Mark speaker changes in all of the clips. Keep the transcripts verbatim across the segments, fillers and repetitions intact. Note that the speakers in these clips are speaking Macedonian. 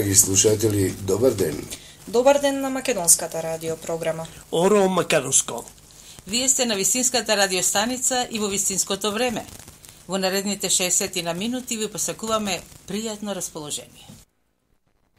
Speaker 1: Драги слушатели, добар ден.
Speaker 2: Добар ден на македонската радиопрограма.
Speaker 3: Оро Македонско.
Speaker 4: Вие сте на вистинската радиостаница и во вистинското време. Во наредните шеесет на минути ви посакуваме пријатно расположение.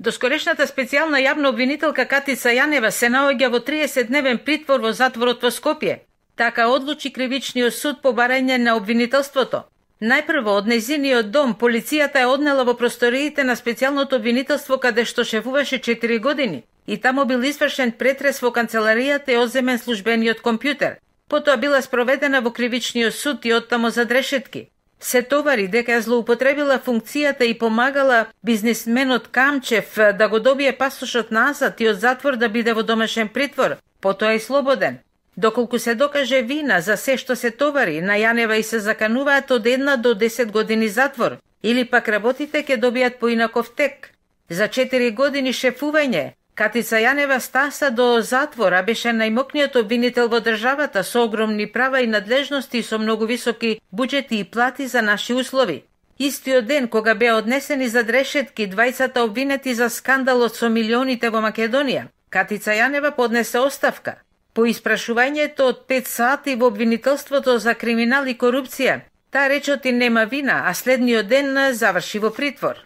Speaker 4: Доскорешната специјална јавна обвинителка Катица Јанева се наоѓа во триесетдневен притвор во затворот во Скопје. Така одлучи кривичниот суд по барање на обвинителството. Најпрво од нејзиниот дом полицијата е однела во просториите на специјалното обвинителство каде што шефуваше четири години и таму бил извршен претрес во канцеларијата и одземен службениот компјутер. Потоа била спроведена во кривичниот суд и оттамо за решетки. Се товари дека ја злоупотребила функцијата и помагала бизнисменот Камчев да го добие пасошот назад и од затвор да биде во домашен притвор, потоа и слободен. Доколку се докаже вина за се што се товари, на Јанева и се закануваат од една до десет години затвор, или пак работите ќе добијат поинаков тек. За четири години шефување, Катица Јанева стаса до затвор, а беше најмокниот обвинител во државата со огромни права и надлежности со многу високи буџети и плати за наши услови. Истиот ден кога беа однесени за решетки двајцата обвинети за скандалот со милионите во Македонија, Катица Јанева поднесе оставка. По испрашувањето од пет сати во обвинителството за криминал и корупција, таа речоти нема вина, а следниот ден заврши во притвор.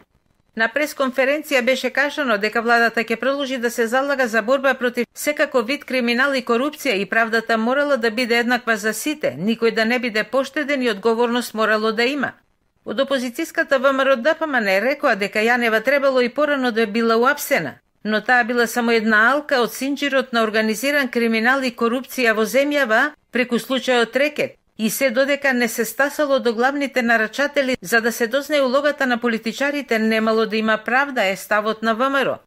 Speaker 4: На пресконференција беше кажано дека владата ќе продолжи да се залага за борба против секако вид криминал и корупција и правдата морала да биде еднаква за сите, никој да не биде поштеден и одговорност морало да има. Од опозицијската ВМРО-ДПМН рекоа дека Јанева требало и порано да била уапсена, но таа била само една алка од синџирот на организиран криминал и корупција во земјава преку случајот Рекет и се додека не се стасало до главните нарачатели за да се дознае улогата на политичарите немало да има правда е ставот на ВМРО.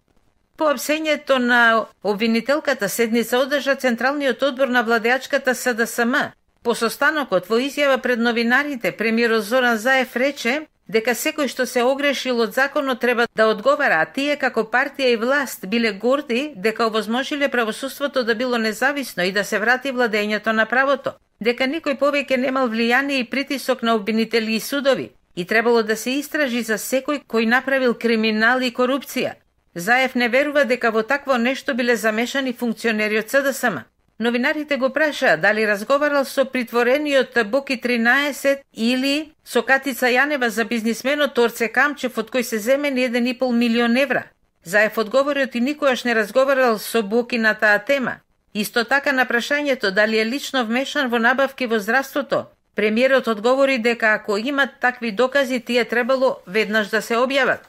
Speaker 4: По апсењето на обвинителката седница одржа Централниот одбор на владеачката СДСМ. По состанокот во изјава пред новинарите премиерот Зоран Заев рече дека секој што се огрешил од законот треба да одговара, а тие како партија и власт биле горди дека овозможиле правосудството да било независно и да се врати владењето на правото, дека никој повеќе немал влијание и притисок на обвинители и судови и требало да се истражи за секој кој направил криминал и корупција. Заев не верува дека во такво нешто биле замешани функционери од СДСМ. Новинарите го прашаа дали разговарал со притворениот Боки тринаесет или со Катица Јанева за бизнисменот Орце Камчев од кој се земени еден и пол милион евра. Заев одговориот и никогаш не разговарал со Боки на таа тема. Исто така на прашањето дали е лично вмешан во набавки во здравството, премиерот одговори дека ако имат такви докази, тие требало веднаш да се објават.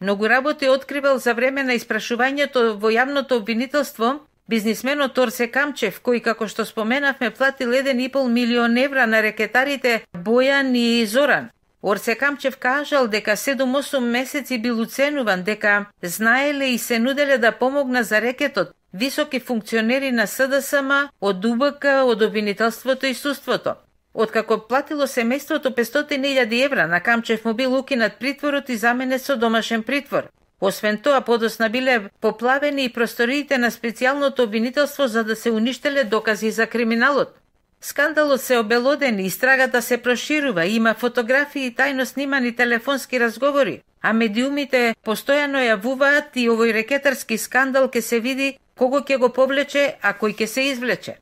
Speaker 4: Многу работи откривал за време на испрашувањето во јавното обвинителство бизнисменот Орце Камчев, кој, како што споменавме, платил еден и пол милион евра на рекетарите Бојан и Зоран. Орце Камчев кажал дека седум-осум месеци бил уценуван, дека знаеле и се нуделе да помогна за рекетот високи функционери на СДСМ, од УБК, од обвинителството и судството. Откако платило семејството петстотини илјади евра, на Камчев му бил укинат притворот и заменет со домашен притвор. Освен тоа, подосна биле поплавени и просториите на специјалното обвинителство за да се уништеле докази за криминалот. Скандалот се обелодени, истрагата се проширува, има фотографии и тајно снимани телефонски разговори, а медиумите постојано јавуваат и овој рекетарски скандал ке се види кого ќе го повлече, а кој ќе се извлече.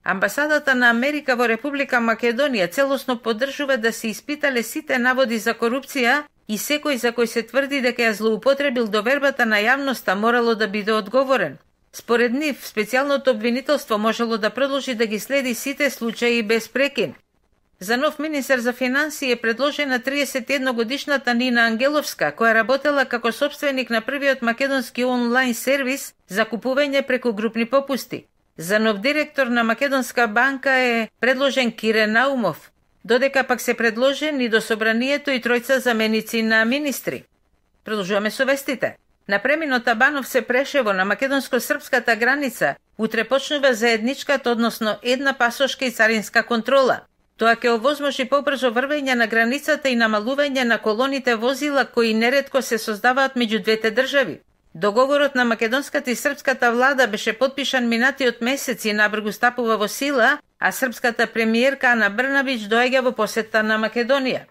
Speaker 4: Амбасадата на Америка во Република Македонија целосно поддржува да се испитале сите наводи за корупција и секој за кој се тврди дека ја злоупотребил довербата на јавноста морало да биде одговорен. Според нив, специјалното обвинителство можело да продолжи да ги следи сите случаи без прекин. За нов министер за финансии е предложена триесет и едногодишната Нина Ангеловска, која работела како собственик на првиот македонски онлайн сервис за купување преку групни попусти. За нов директор на Македонска банка е предложен Кире Наумов, додека пак се предложени до собранието и тројца заменици на министри. Продолжуваме со вестите. На преминот Абанов се Прешево на македонско-српската граница утре почнува заедничката, односно една пасошка и царинска контрола. Тоа ќе овозможи побрзо врвење на границата и намалување на колоните возила кои неретко се создаваат меѓу двете држави. Договорот на македонската и српската влада беше подпишан минатиот месец и набрзо стапува во сила, а српската премиерка Ана Брнабич доаѓа во посета на Македонија.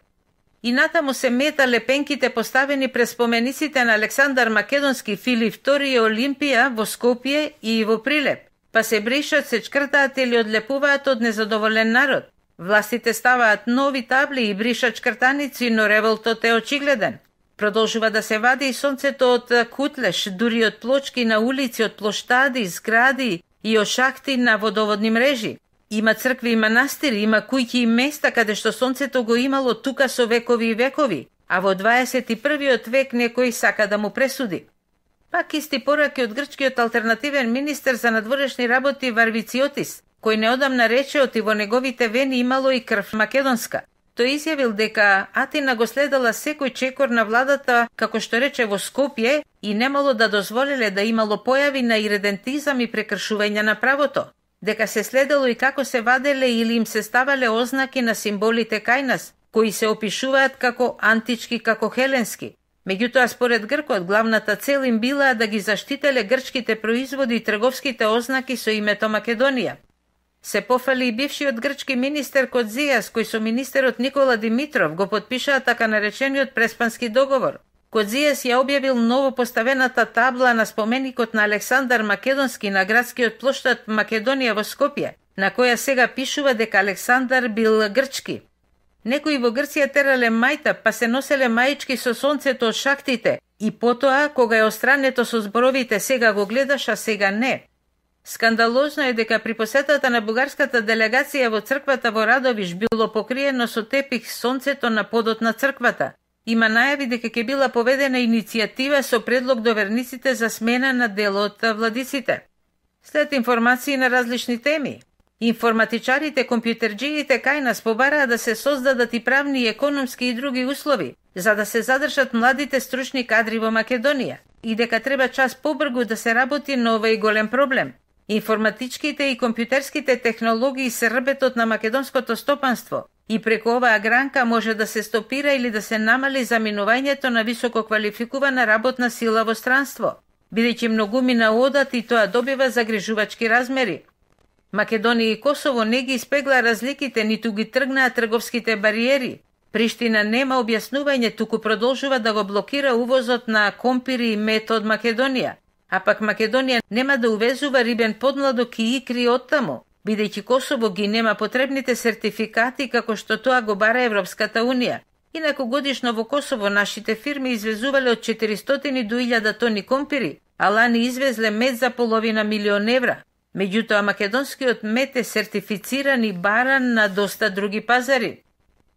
Speaker 4: и натаму се метале пенките поставени пред спомениците на Александар Македонски, Филип втори и Олимпија во Скопје и во Прилеп, па се бришат, се чкртаат или одлепуваат од незадоволен народ. Властите ставаат нови табли и бришат чкртаници, но револтот е очигледен. Продолжува да се вади и сонцето од кутлеш, дури од плочки на улици, од плоштади, згради и од шахти на водоводни мрежи. Има цркви и манастири, има куќи и места каде што сонцето го имало тука со векови и векови, а во дваесет и првиот век некој сака да му пресуди. Пак исти пораки од грчкиот алтернативен министер за надворешни работи Варвициотис, кој неодамна речеот и во неговите вени имало и крв македонска. Тој изјавил дека Атина го следала секој чекор на владата, како што рече во Скопје, и немало да дозволиле да имало појави на иредентизам и прекршување на правото, дека се следело и како се ваделе или им се ставале ознаки на символите кај нас, кои се опишуваат како антички, како хеленски. Меѓутоа, според Гркот, главната цел им била да ги заштителе грчките производи и трговските ознаки со името Македонија. Се пофали и бившиот грчки министер Кодзијас, кој со министерот Никола Димитров го подпишаа така наречениот Преспански договор. Кодзијас ја објавил ново поставената табла на споменикот на Александар Македонски на градскиот плоштад Македонија во Скопје, на која сега пишува дека Александар бил грчки. Некои во Грција терале мајта, па се носеле маички со сонцето од шахтите, и потоа, кога е острането со зборовите сега го гледаш, а сега не. Скандалозно е дека при посетата на бугарската делегација во црквата во Радовиш било покриено со тепих сонцето на подот на црквата. Има најави дека ќе била поведена иницијатива со предлог до верниците за смена на дел од владиците. След информации на различни теми, информатичарите, компјутерџиите кај нас побараа да се создадат и правни, економски и други услови, за да се задржат младите стручни кадри во Македонија, и дека треба час побргу да се работи на овој голем проблем. Информатичките и компјутерските технологии се рбетот на македонското стопанство и преку оваа гранка може да се стопира или да се намали заминувањето на високо квалификувана работна сила во странство, бидејќи многумина одат и тоа добива загрижувачки размери. Македонија и Косово не ги испегла разликите, ниту ги тргнаа трговските бариери. Приштина нема објаснување, туку продолжува да го блокира увозот на компири и мед од Македонија. А пак Македонија нема да увезува рибен подмладок и икри оттаму, бидејќи Косово ги нема потребните сертификати како што тоа го бара Европската Унија. Инаку годишно во Косово нашите фирми извезувале од четиристотини до илјада тони компири, а лани извезле мед за половина милион евра. Меѓутоа македонскиот мед е сертифициран и баран на доста други пазари.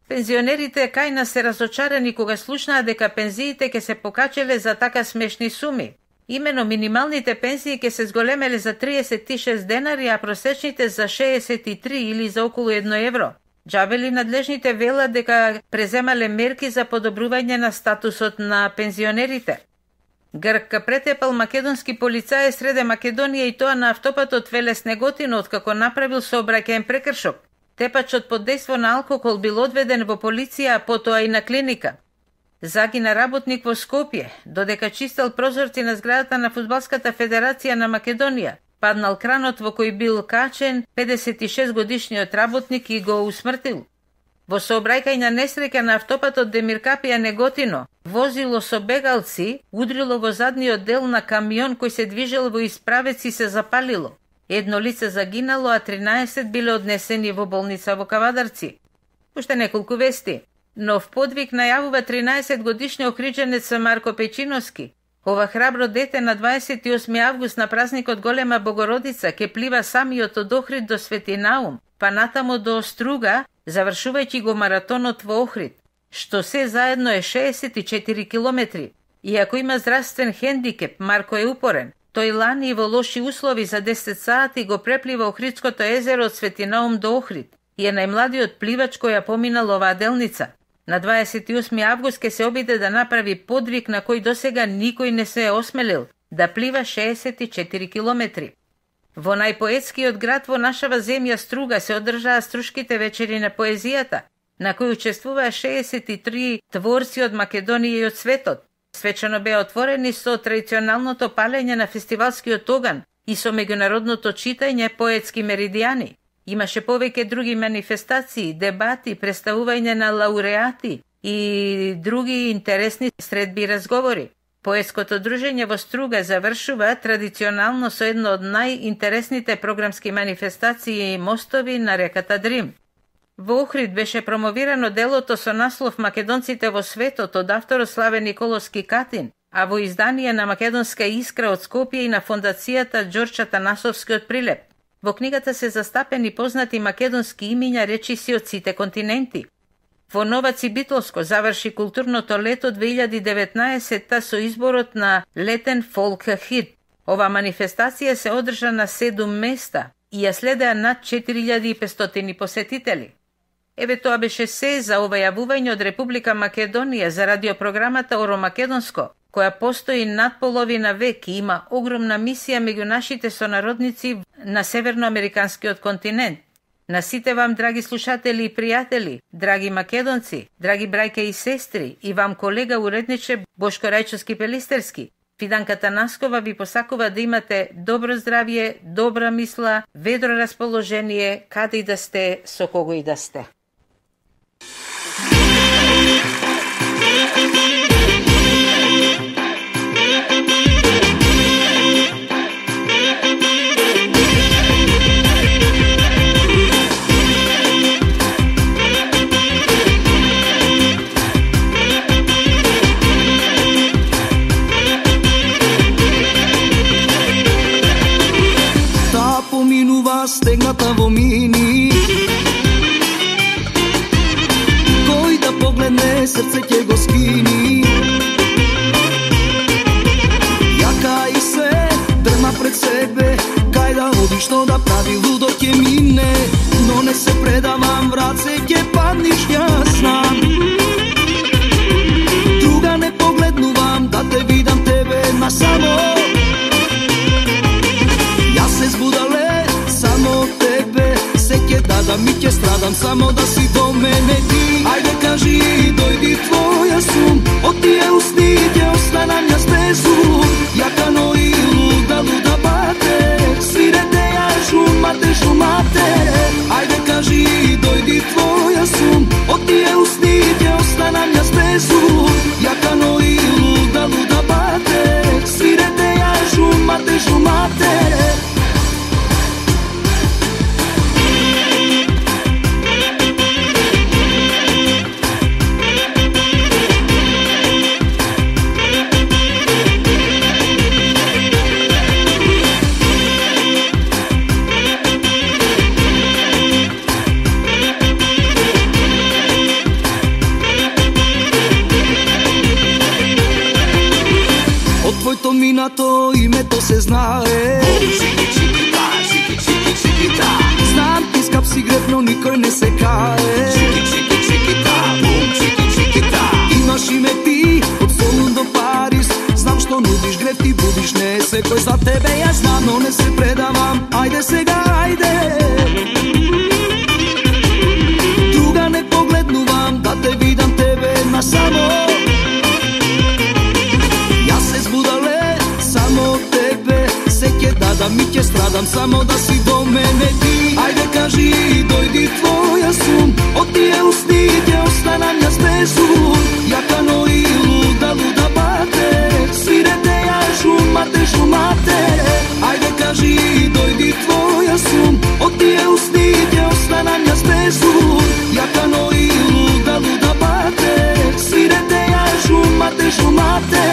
Speaker 4: Пензионерите кај нас се разочарани кога слушнаа дека пензиите ќе се покачеле за така смешни суми. Имено минималните пензии ќе се зголемеле за триесет и шест денари, а просечните за шеесет и три или за околу едно евро. Џабели надлежните велат дека преземале мерки за подобрување на статусот на пензионерите. Грк претепал македонски полицај среде Македонија и тоа на автопатот Велес Неготино, откако направил сообраќаен прекршок. Тепачот под дејство на алкохол бил одведен во полиција, а потоа и на клиника. Загина работник во Скопје, додека чистел прозорци на зградата на Фудбалската федерација на Македонија. Паднал кранот во кој бил качен педесет и шест годишниот работник и го усмртил. Во сообраќајна несреќа на автопатот Демиркапија Неготино, возило со бегалци удрило во задниот дел на камион кој се движел во исправец и се запалило. Едно лице загинало, а тринаесет биле однесени во болница во Кавадарци. Уште неколку вести. Нов подвиг најавува тринаесет годишни охриđенец Марко Печиновски. Ова храбро дете на дваесет и осми август на празникот Голема Богородица ќе плива самиот од Охрид до Свети Наум, па натамо до Струга, завршувајќи го маратонот во Охрид, што се заедно е шеесет и четири километри. Иако има здравствен хендикеп, Марко е упорен. Тој лани во лоши услови за десет сати го преплива Охридското езеро од Свети Наум до Охрид и е најмладиот пливач кој ја поминал оваа делница. На дваесет и осми август ќе се обиде да направи подвиг на кој досега никој не се е осмелил, да плива шеесет и четири километри. Во најпоетскиот град во нашава земја Струга се одржаа струшките вечери на поезијата, на кои учествуваа шеесет и три творци од Македонија и од светот. Свечено беа отворени со традиционалното палење на фестивалскиот оган и со меѓународното читање поетски меридијани. Имаше повеќе други манифестации, дебати, представување на лауреати и други интересни средби и разговори. Поетското дружење во Струга завршува традиционално со едно од најинтересните програмски манифестации и мостови на реката Дрим. Во Охрид беше промовирано делото со наслов Македонците во светот од авторот Славе Николовски Катин, а во издание на Македонска искра од Скопје и на фондацијата Ѓорче Атанасовски од Прилеп. Во книгата се застапени познати македонски имиња речиси од сите континенти. Во Новаци Битолско заврши културното лето две илјади и деветнаесетта со изборот на летен фолк хит. Ова манифестација се одржа на седум места и ја следеа над четири илјади и петстотини посетители. Еве тоа беше се за ова јавување од Република Македонија за радиопрограмата Оро Македонско, која постои над половина век и има огромна мисија меѓу нашите сонародници на северноамериканскиот континент. На сите вам, драги слушатели и пријатели, драги македонци, драги брајке и сестри, и вам колега уредниче Бошко Рајчовски-Пелистерски, Фиданка Танаскова ви посакува да имате добро здравје, добра мисла, ведро расположение, каде и да сте, со кого и да сте.
Speaker 3: Стегната во мини, кој да погледне срце ќе го скини. Јака и се дрма пред себе, кај да оди, што да прави, лудо ќе мине, но не се предавам, врат се ќе падниш, јас знам. Друга не погледнувам, да те видам тебе на само. Јас се збудале само тебе, се ќе дадам и ќе страдам, само да си до мене ти. Ајде кажи, дојди твоја сум, од тие усни ќе останам јас без ум. Јака но и луда, луда бате, свирете ја шумате, шумате. Ајде кажи, дојди твоја сум, од тие усни ќе останам јас без ум. Јака но и луда, луда бате, свирете ја шумате, шумате. Твоето минато името се знае. Знам ти скап си греб, но никој не се кае. Имаш име ти од Солун до Париз, знам што нудиш, греб ти будиш, не е секој за тебе, јас знам, но не се предавам. Ајде сега, ајде. Друга не погледнувам, да те видам тебе на само. Само тебе се ќе дадам и ќе страдам, само да си до мене ти. Ајде кажи, дојди твоја сум, од тие усни ќе останам јас без ум. Јака но и луда, луда бате, свирете ја шумате, шумате. Ајде кажи, дојди твоја сум, од тие усни ќе останам јас без ум. Јака но и луда, луда бате, свирете ја шумате, шумате.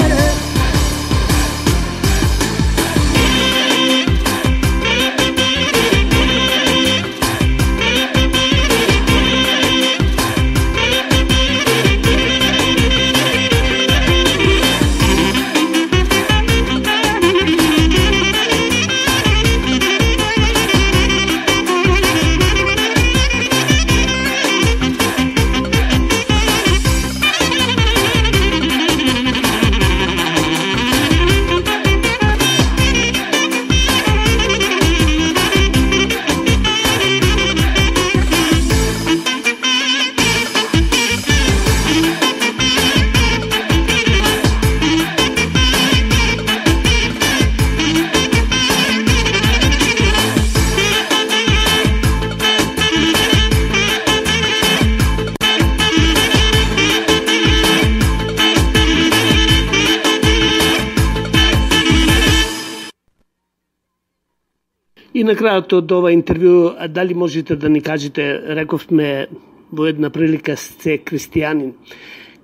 Speaker 5: И на крајот од ова интервју, дали можете да ни кажете, рековме во една прилика сте христијанин,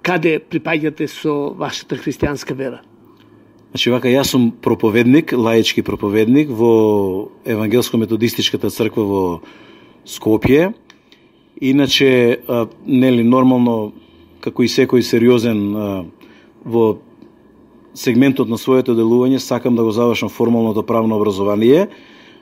Speaker 5: каде припаѓате со вашата христијанска вера?
Speaker 6: Значи, вака, јас сум проповедник, лаички проповедник во Евангелско-методистичката црква во Скопје. Иначе, а, нели, нормално, како и секој сериозен а, во сегментот на своето делување, сакам да го завршам формалното правно образование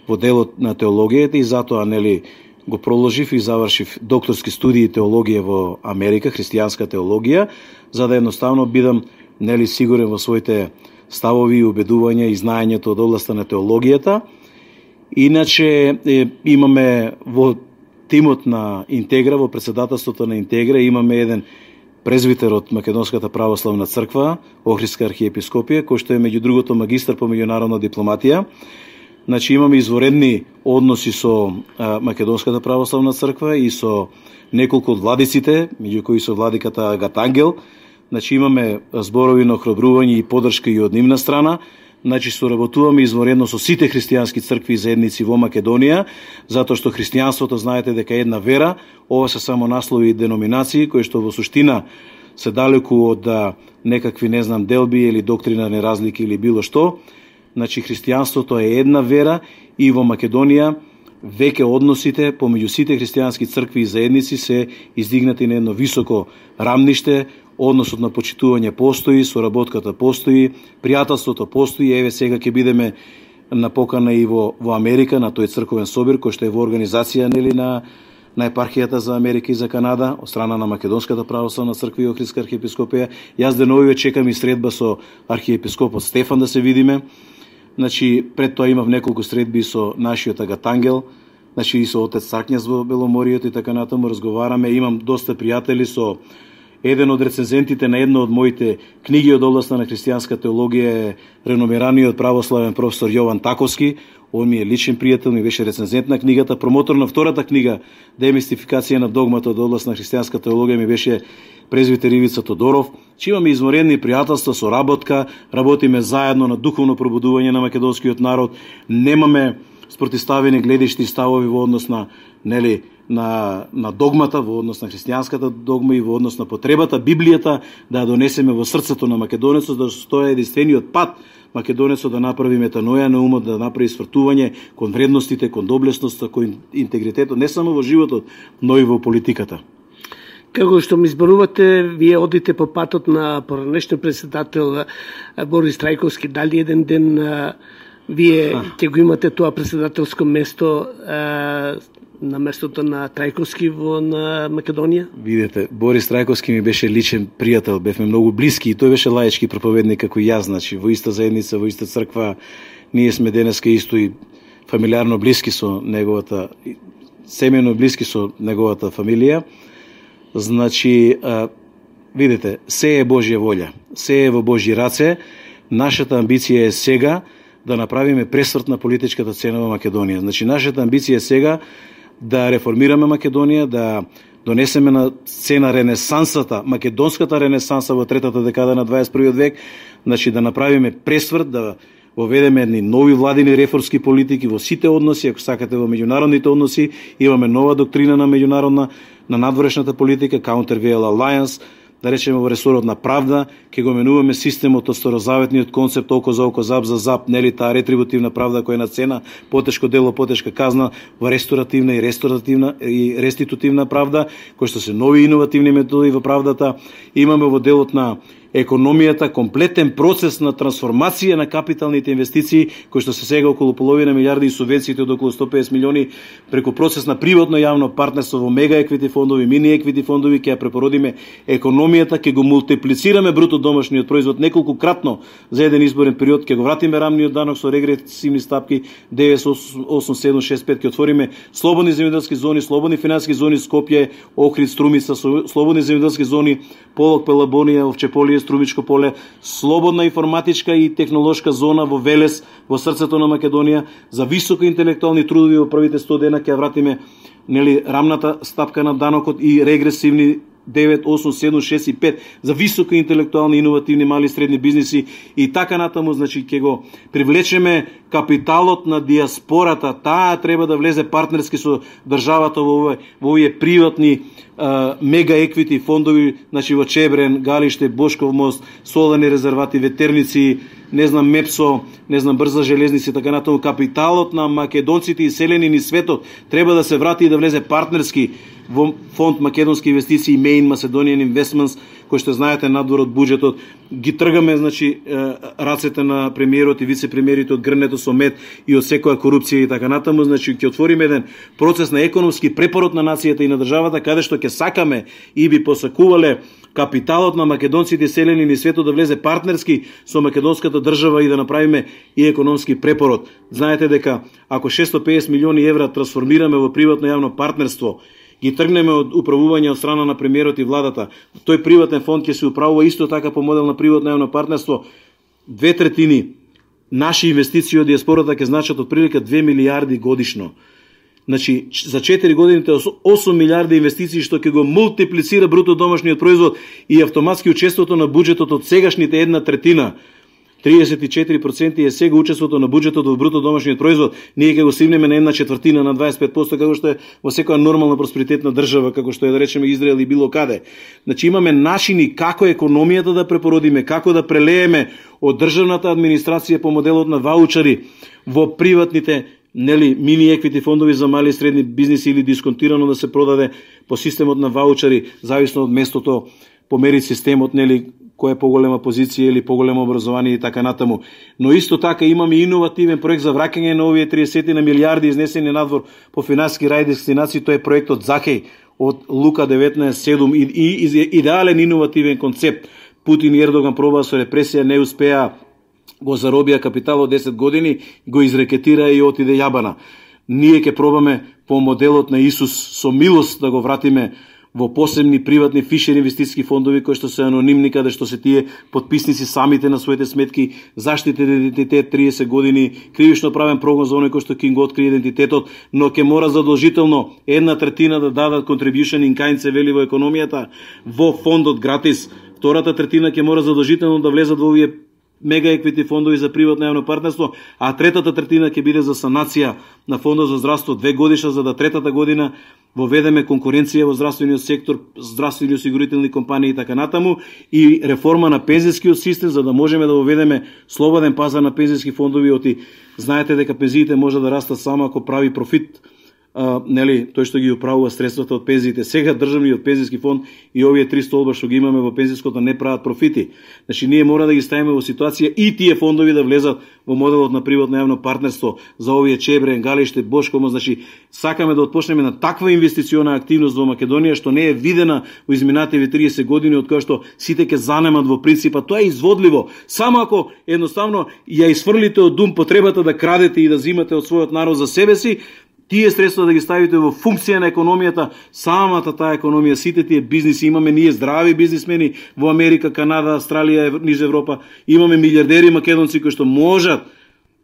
Speaker 6: во делот на теологијата и затоа, нели, го проложив и завршив докторски студии теологија во Америка, христијанска теологија, за да едноставно бидам, нели, сигурен во своите ставови и убедувања и знаењето од областа на теологијата. Иначе е, имаме во тимот на Интегра, во председателството на Интегра, имаме еден презвитер од Македонската православна црква, Охридска архиепископија, кој што е меѓу другото магистар по меѓународна дипломатија. Значи имаме изворедни односи со а, Македонската православна црква и со неколку од владиците, меѓу кои со владиката Агатангел. Значи имаме зборови на охрабрување и поддршка и од нивна страна. Значи соработуваме изворедно со сите христијански цркви и заедници во Македонија, затоа што христијанството, знаете дека е една вера, ова се само наслови и деноминации кои што во суштина се далеку од некакви, не знам, делби или доктринарни разлики или било што. Значи христијанството е една вера и во Македонија веќе односите помеѓу сите христијански цркви и заедници се издигнати на едно високо рамниште. Односот на почитување постои, соработката постои, пријателството постои. Еве сега ќе бидеме на покана и во, во Америка, на тој црковен собир, кој што е во организација, нели, на, на епархијата за Америка и за Канада, од страна на Македонската православна црква и Охридска архиепископија. Јас деновиве чекам и средба со архиепископот Стефан да се видиме. Значи, пред тоа имав неколку средби со нашиот Агатангел, значи и со отец Царкњас во Беломоријот и така натаму разговараме. Имам доста пријатели со еден од рецензентите на една од моите книги од областа на христијанска теологија е реномираниот православен професор Јован Таковски. Он ми е личен пријател, ми беше рецензент на книгата. Промотор на втората книга Демистификација на догмата од област на христијанска теологија ми беше презвитер Ивица Тодоров. Че имаме изворени пријателства, соработка, работиме заедно на духовно пробудување на македонскиот народ. Немаме спротивставени гледишти и ставови во однос на, нели, на, на догмата, во однос на христијанската догма и во однос на потребата Библијата да ја донесеме во срцето на македонецот, да стои единствениот пат македонецот да направи метаноја на умот, да направи свртување кон вредностите, кон доблесноста, кон интегритетот, не само во животот, но и во политиката.
Speaker 5: Како што ми зборувате, вие одите по патот на поранешниот председател Борис Трајковски. Дали еден ден вие ќе го имате тоа председателско место на местото на Трајковски во на Македонија?
Speaker 6: Видете, Борис Трајковски ми беше личен пријател, бевме многу блиски и тој беше лаички проповедник како и јас, значи во иста заедница, во иста црква. Ние сме денеска исто и фамилиарно блиски со неговата, семејно блиски со неговата фамилија. Значи, а, видите, се е Божја волја, се е во Божји раце. Нашата амбиција е сега да направиме пресврт на политичката сцена во Македонија. Значи, нашата амбиција е сега да реформираме Македонија, да донесеме на сцена ренесансата, македонската ренесанса во третата декада на дваесет и првиот век, значи да направиме пресврт, да воведеме едни нови владини реформски политики во сите односи, ако сакате во меѓународните односи, имаме нова доктрина на меѓународна, на надворешната политика, Counter-Veil Alliance, да речеме во ресорот на правда, ќе го менуваме системот од старозаветниот концепт око за око, зап за зап, нели таа ретрибутивна правда која е на цена, потешко дело, потешка казна, во ресторативна и ресторативна и реститутивна правда, кои што се нови иновативни методи во правдата. Имаме во делот на економијата комплетен процес на трансформација на капиталните инвестиции, кои што се сега околу половина милиарди и субвенциите од околу сто и песет милиони преку процес на приватно јавно партнерство во мега еквити фондови, мини еквити фондови, ќе ја препородиме економијата, ќе го мултиплицираме бруто домашниот производ неколку кратно за еден изборен период, ќе го вратиме рамниот данок со регресивни стапки девет осум седум шест пет, ќе отвориме слободни земјоделски зони, слободни финансиски зони Скопје, Охрид, Струмица, слободни земјоделски зони Полок, Пелабонија, Овчеполие, Струмичко поле, слободна информатичка и технолошка зона во Велес, во срцето на Македонија, за високо интелектуални трудови во првите сто дена ќе вратиме, нели, рамната стапка на данокот и регресивни девет, осум, седум, шест и пет за високо интелектуални, иновативни, мали и средни бизниси и така натаму, значи ќе го привлечеме капиталот на диаспората, таа треба да влезе партнерски со државата во овие, во овие приватни а, мега еквити фондови, значи во Чебрен, Галиште, Бошков мост, Солани резервати, Ветерници, не знам Мепсо, не знам брза железници, така натаму. Капиталот на македонците и селени ни светот треба да се врати и да влезе партнерски во фонд Македонски инвестиции, Main Macedonian Investments, кој што знаете надвор од буџетот. Ги тргаме, значи, рацете на премиерот и вице-премиерите од грнето со мед и од секоја корупција и така натаму. Значи, ќе отвориме еден процес на економски препорот на нацијата и на државата, каде што ќе сакаме и би посакувале капиталот на македонците селени ни светот да влезе партнерски со македонската држава и да направиме и економски препорот. Знаете дека ако шестстотини и педесет милиони евра трансформираме во приватно јавно партнерство, ги тргнеме од управување од страна на премиерот и владата, тој приватен фонд ќе се управува исто така по модел на приватно јавно партнерство, две третини наши инвестиции од диаспората ќе значат од прилика две милијарди годишно. Значи, за четири годините осум милијарди инвестиции што ќе го мултиплицира бруто домашниот производ и автоматски учеството на буџетот од сегашните една третина. триесет и четири проценти е сега учеството на буџетот во бруто домашниот производ. Ние ќе го стигнеме на една четвртина, на дваесет и пет проценти, како што е во секоја нормална просперитетна држава, како што е да речеме Израел и било каде. Значи имаме начини како економијата да препородиме, како да прелееме од државната администрација по моделот на ваучери во приватните, нели, мини еквити фондови за мали и средни бизниси или дисконтирано да се продаде по системот на ваучери, зависно од местото, по мери системот, нели, која е поголема позиција или поголемо образование и така натаму. Но исто така имаме иновативен проект за враќање на овие триесет на милијарди изнесени надвор по финансиски рај дестинации, тоа е проектот Захеј од Лука деветнаесет седум и, и, и идеален иновативен концепт. Путин и Ердоган пробаа со репресија, не успеа, го заробија капитал од десет години, го изрекетира и отиде јабана. Ние ќе пробаме по моделот на Исус со милост да го вратиме во посебни приватни фишер инвестициски фондови кои што се анонимни, каде што се тие подписници самите на своите сметки, заштитен идентитет триесет години, кривично правен прогон за оној кој што ќе го открие идентитетот, но ќе мора задолжително една третина да дадат contribution in kind, се вели во економијата, во фондот гратис. Втората третина ќе мора задолжително да влезат во овие мега еквити фондови за приватно јавно партнерство, а третата третина ќе биде за санација на фондот за здравство две годишна, за да третата година воведеме конкуренција во здравствениот сектор, здравствени осигурителни компании и така натаму, и реформа на пензискиот систем, за да можеме да воведеме слободен пазар на пензиски фондови. Оти знаете дека пензиите може да растат само ако прави профит, а, нели, тој што ги управува средствата од пензиите. Сега државниот пензиски фонд и овие три столба што ги имаме во пензиското не прават профити. Значи ние мора да ги ставиме во ситуација и тие фондови да влезат во моделот на приватно јавно партнерство за овие Чебрен, Галиште, Бошково. Значи сакаме да отпочнеме на таква инвестициона активност во Македонија што не е видена во изминативе триесет години, од која што сите ќе занемат во принципа. Тоа е изводливо. Само ако едноставно ја изфрлите од дум потребата да крадете и да зимате од својот народ за себе си, тие средства да ги ставите во функција на економијата, самата таа економија, сите тие бизниси, имаме ние здрави бизнисмени во Америка, Канада, Австралија, низ Европа, имаме милиардери македонци кои што можат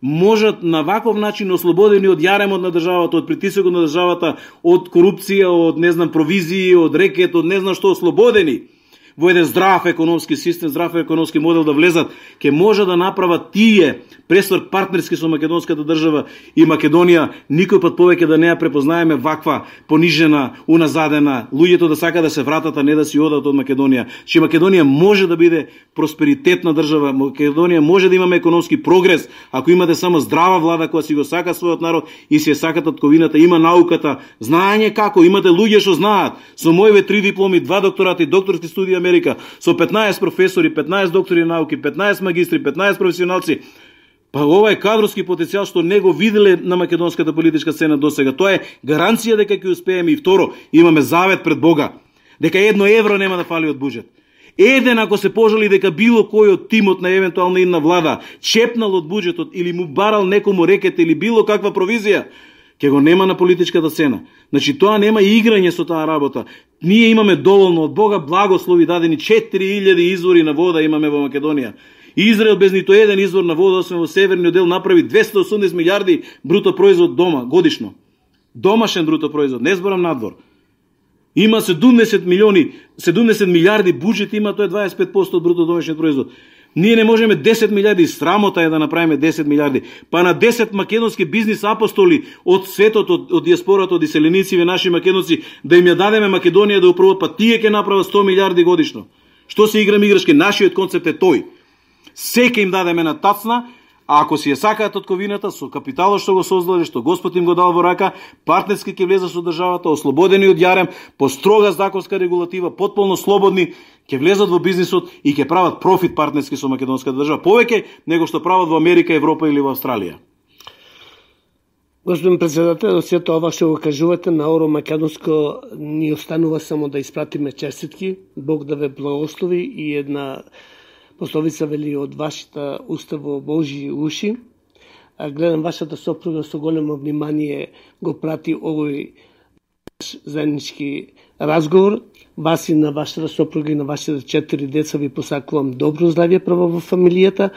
Speaker 6: можат на ваков начин ослободени од јаремот на државата, од притисокот на државата, од корупција, од не знам провизии, од рекет, од не знам што, ослободени во еден здрав економски систем, здрав економски модел да влезат, ќе може да направат тие пресврт партнерски со македонската држава и Македонија никој пат повеќе да не ја препознаеме ваква понижена, уназадена, луѓето да сака да се вратат, а не да си одат од Македонија. Че Македонија може да биде просперитетна држава, Македонија може да имаме економски прогрес, ако имате само здрава влада која си го сака својот народ и си ја сака татковината, има науката, знаење како, имате луѓе што знаат, со моите три дипломи, два докторати, докторски студии Америка, со петнаесет професори, петнаесет доктори науки, петнаесет магистри, петнаесет професионалци. Па ова е кадровски потенцијал што не го виделе на македонската политичка сцена досега. Тоа е гаранција дека ќе успееме. И второ, имаме завет пред Бога, дека едно евро нема да фали од буџет. Еден ако се пожали дека било кој од тимот на евентуална една влада чепнал од буџетот или му барал некому рекет или било каква провизија, ќе го нема на политичката сцена. Значи тоа нема играње со таа работа. Ние имаме доволно од Бога благослови дадени, четири илјади извори на вода имаме во Македонија. Израел без нито еден извор на вода, освен во северниот дел, направи двесте и осумдесет милијарди бруто производ дома годишно. Домашен бруто производ, не зборам надвор. Има седумдесет милиони, седумдесет милиарди буџет, има тоа е дваесет и пет проценти од бруто домашниот производ. Ние не можеме десет милиарди, срамота е да направиме десет милиарди. Па на десет македонски бизнис апостоли од светот, од, од диаспората, од иселеници, наши македонци, да им ја дадеме Македонија да управат, па тие ќе направат сто милиарди годишно. Што се играме играчки? Нашиот концепт е тој. Секе им дадеме на тацна, а ако си ја сакаат татковината со капиталот што го создале, што Господ им го дал во рака, партнерски ќе влезат со државата, ослободени од јарем, по строга законска регулатива, потполно слободни, ќе влезат во бизнисот и ќе прават профит партнерски со македонската држава, повеќе него што прават во Америка, Европа или во Австралија.
Speaker 5: Господин председател, сето ова што го кажувате на Оро Македонско, ни останува само да испратиме честитки, Бог да ве благослови и една пословица вели од вашата уста во Божји уши. А гледам вашата сопруга со големо внимание го прати овој заеднички разговор. Вас и на вашата сопруга и на вашите четири деца ви посакувам добро здравје прво во фамилијата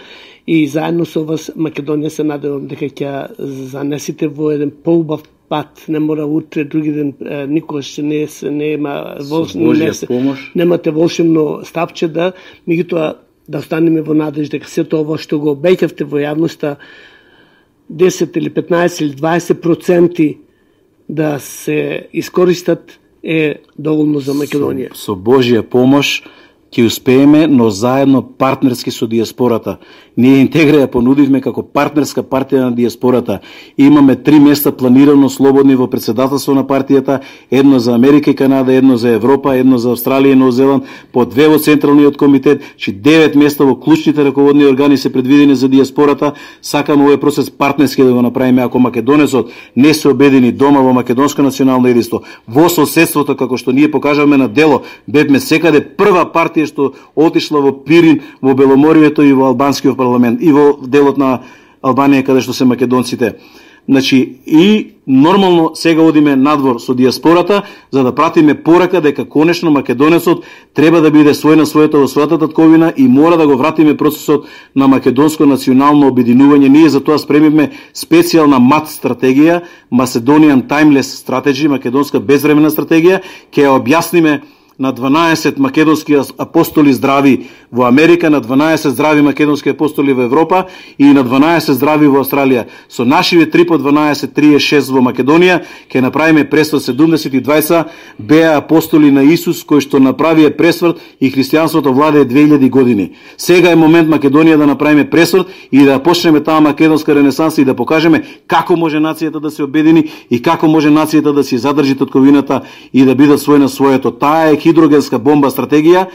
Speaker 5: и заедно со вас Македонија се надевам дека ќе занесите во еден поубав пат. Не мора утре, други ден, никогаш не не има волшебно, не, немате волшебно стапче да, меѓутоа да останеме во надеж дека сето ова што го обеќавте во јавноста десет или петнаесет или дваесет проценти да се искористат е доволно за Македонија.
Speaker 6: Со, со Божја помош ќе успееме, но заедно партнерски со диаспората. Ние Интегра ја понудивме како партнерска партија на диаспората. Имаме три места планирано слободни во председателство на партијата, едно за Америка и Канада, едно за Европа, едно за Австралија и Нов Зеланд, по две во Централниот комитет, че девет места во клучните раководни органи се предвидени за диаспората. Сакаме овој процес партнерски да го направиме. Ако македонецот не се обедини дома во македонско национално единство, во соседството, како што ние покажавме на дело, бевме секаде прва партија што отишла во Пирин, во Беломорието и во албанскиот парламент и во делот на Албанија каде што се македонците. Значи и нормално сега одиме надвор со диаспората за да пратиме порака дека конечно македонецот треба да биде свој на својата во својата татковина и мора да го вратиме процесот на македонско национално обединување. Ние за тоа спремивме специјална МАТ стратегија, Macedonian Timeless Strategy, македонска безвременна стратегија, ќе ја објасниме на дванаесет македонски апостоли здрави во Америка, на дванаесет здрави македонски апостоли во Европа и на дванаесет здрави во Австралија. Со нашиве три по дванаесет, триесет и шест во Македонија ќе направиме пресврт. Седумдесет и двајца беа апостоли на Исус кои што направија пресврт и христијанството владее две илјади години. Сега е момент Македонија да направиме пресврт и да почнеме таа македонска ренесанса и да покажеме како може нацијата да се обедини и како може нацијата да си задржи татковината и да бидат свој на своето. Таа е хидрогенска бомба стратегија.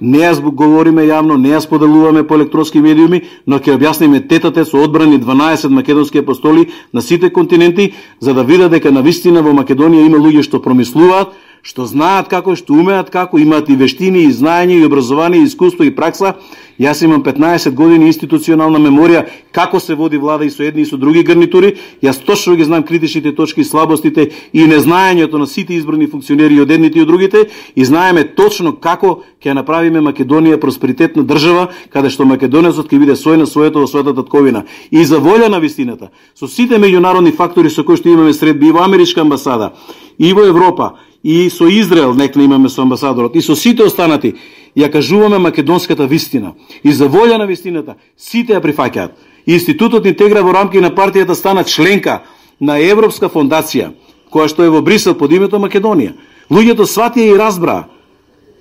Speaker 6: Не ја говориме јавно, не ја споделуваме по електронски медиуми, но ќе објасниме тетате со одбрани дванаесет македонски апостоли на сите континенти, за да видат дека навистина во Македонија има луѓе што промислуваат, што знаат како, што умеат како, имаат и вештини, и знаење, и образование, и искуство, и пракса. Јас имам петнаесет години институционална меморија како се води влада и со едни и со други гарнитури. Јас точно ги знам критичните точки, слабостите и незнаењето на сите избрани функционери од едните и од другите и знаеме точно како ќе направиме Македонија просперитетна држава, каде што македонецот ќе биде свој на своето во својата татковина. И за волја на вистината, со сите меѓународни фактори со кои што имаме средби и во Америчка амбасада, и во Европа, и со Израел некна имаме со амбасадорот, и со сите останати, ја кажуваме македонската вистина. И за волја на вистината, сите ја прифаќаат. Институтот Интегра во рамки на партијата стана членка на Европска фондација, која што е во Брисел под името Македонија. Луѓето сватија и разбраа.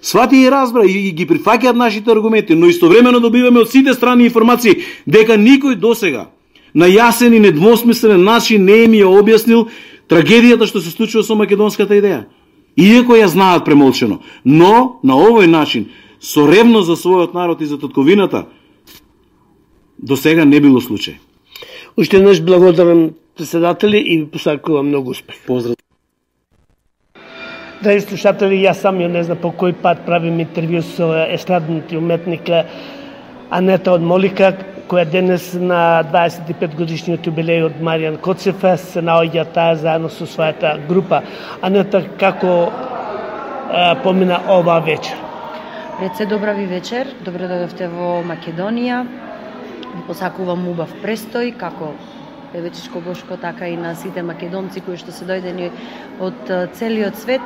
Speaker 6: Сватија и разбра и ги прифаќаат нашите аргументи, но истовремено добиваме од сите страни информации дека никој досега на јасен и недвосмислен начин не ми ја објаснил трагедијата што се случува со македонската идеја. Иако ја знаат премолчено, но на овој начин, со ревност за својот народ и за татковината, до сега не било случај.
Speaker 5: Уште еднаш благодарам председатели и ви посакувам многу успех.
Speaker 6: Поздрав.
Speaker 5: Драги слушатели, јас самиот не знам по кој пат правим интервју со естрадниот уметник Анета од Молика, која денес на дваесет и пет годишниот јубилеј од Маријан Коцев се наоѓа таа заедно со својата група. Анета, како а, помина ова вечер?
Speaker 7: Пред се добра ви вечер, добро дојдовте во Македонија. Ви посакувам убав престој, како Певечичко Бошко, така и на сите македонци кои што се дојдени од целиот свет.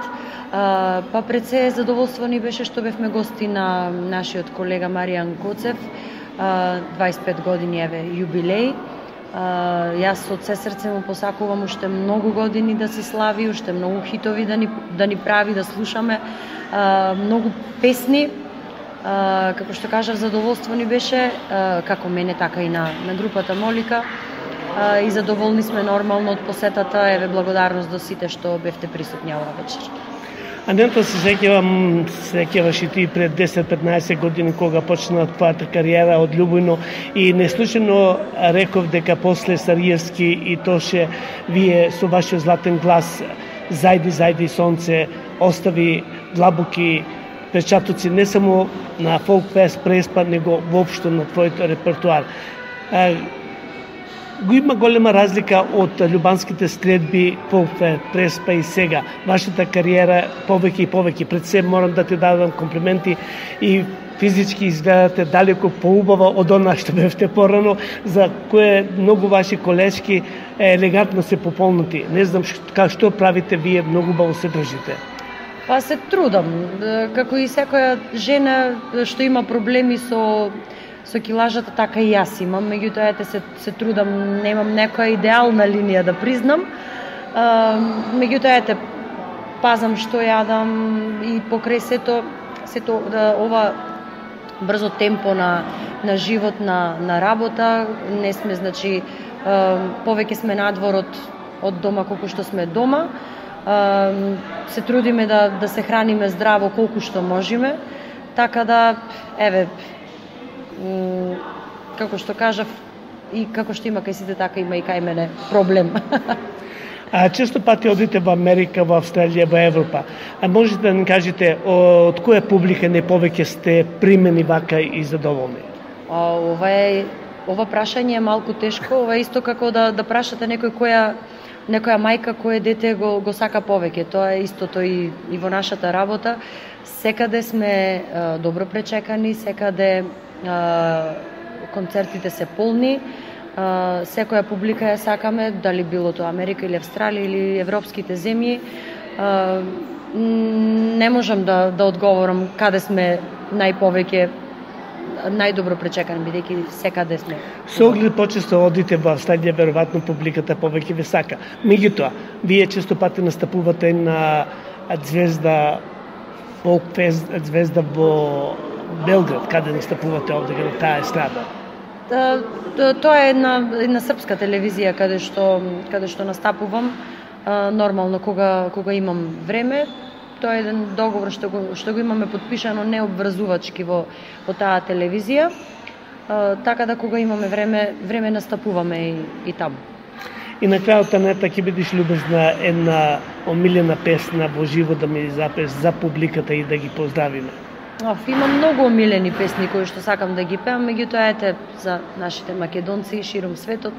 Speaker 7: Па пред се задоволство ни беше што бевме гости на нашиот колега Маријан Коцев, дваесет и пет години еве јубилеј. Јас од се срце му посакувам уште многу години да се слави, уште многу хитови да ни, да ни прави, да слушаме, многу песни. Како што кажав, задоволство ни беше, како мене, така и на, на групата Молика. И задоволни сме нормално од посетата. Еве, благодарност до сите што бевте присутни оваа вечер.
Speaker 5: Анета, се сеќавам, се сеќаваш и ти пред десет-петнаесет години кога почна твојата кариера од Љубојно и неслучено реков дека после Сариевски и Тоше вие со вашиот златен глас Зајди, зајди сонце остави длабоки печатоци не само на Фолк Фест Преспа, него воопшто на твојот репертуар. Го има голема разлика од љубанските следби Фолк Фест Преспа и сега. Вашата кариера повеќе и повеќе. Пред се морам да ти дадам комплименти и физички изгледате далеко поубава од она што бевте порано, за кое многу ваши колешки елегантно се пополнати. Не знам што, што правите вие, многу убаво се држите.
Speaker 7: Па се трудам, како и секоја жена што има проблеми со со килажата, така и јас имам, меѓутоа ете се се трудам, немам некоја идеална линија да признам. Меѓутоа ете пазам што јадам и покрај сето сето да ова брзо темпо на на живот, на на работа, не сме, значи повеќе сме надвор од од дома колку што сме дома. Се трудиме да да се храниме здраво колку што можеме, така да еве како што кажав и како што има кај сите, така има и кај мене проблем.
Speaker 5: А често пати одите во Америка, во Австралија, во Европа. А можете да ни кажете од која публика не повеќе сте примени вака и задоволни?
Speaker 7: А, ова е ова прашање е малку тешко, ова е исто како да да прашате некој која некоја мајка кој дете го го сака повеќе. Тоа е истото и и во нашата работа. Секаде сме а, добро пречекани, секаде а, концертите се полни. Uh, секоја публика ја сакаме, дали било тоа Америка или Австралија или европските земји. Uh, не можам да, да одговорам каде сме најповеќе, најдобро пречекани, бидејќи секаде сме.
Speaker 5: Со оглед почесто одите во Австралија, веројатно публиката повеќе ве сака. Меѓутоа, вие често пати настапувате на Звезда Фолк Фест, Звезда во Белград, каде настапувате овде на таа естрада.
Speaker 7: Тоа е една, една српска телевизија каде што каде што настапувам. Нормално кога кога имам време, тоа е еден договор што го што го имаме потпишано необврзувачки во во таа телевизија. Така да кога имаме време, време настапуваме и, и таму.
Speaker 5: И на крајот, Анета, ќе бидеш любезна една омилена песна во живо да ми запеш за публиката и да ги поздравиме.
Speaker 7: Оф, има многу омилени песни кои што сакам да ги пеам, меѓутоа ете за нашите македонци широм светот,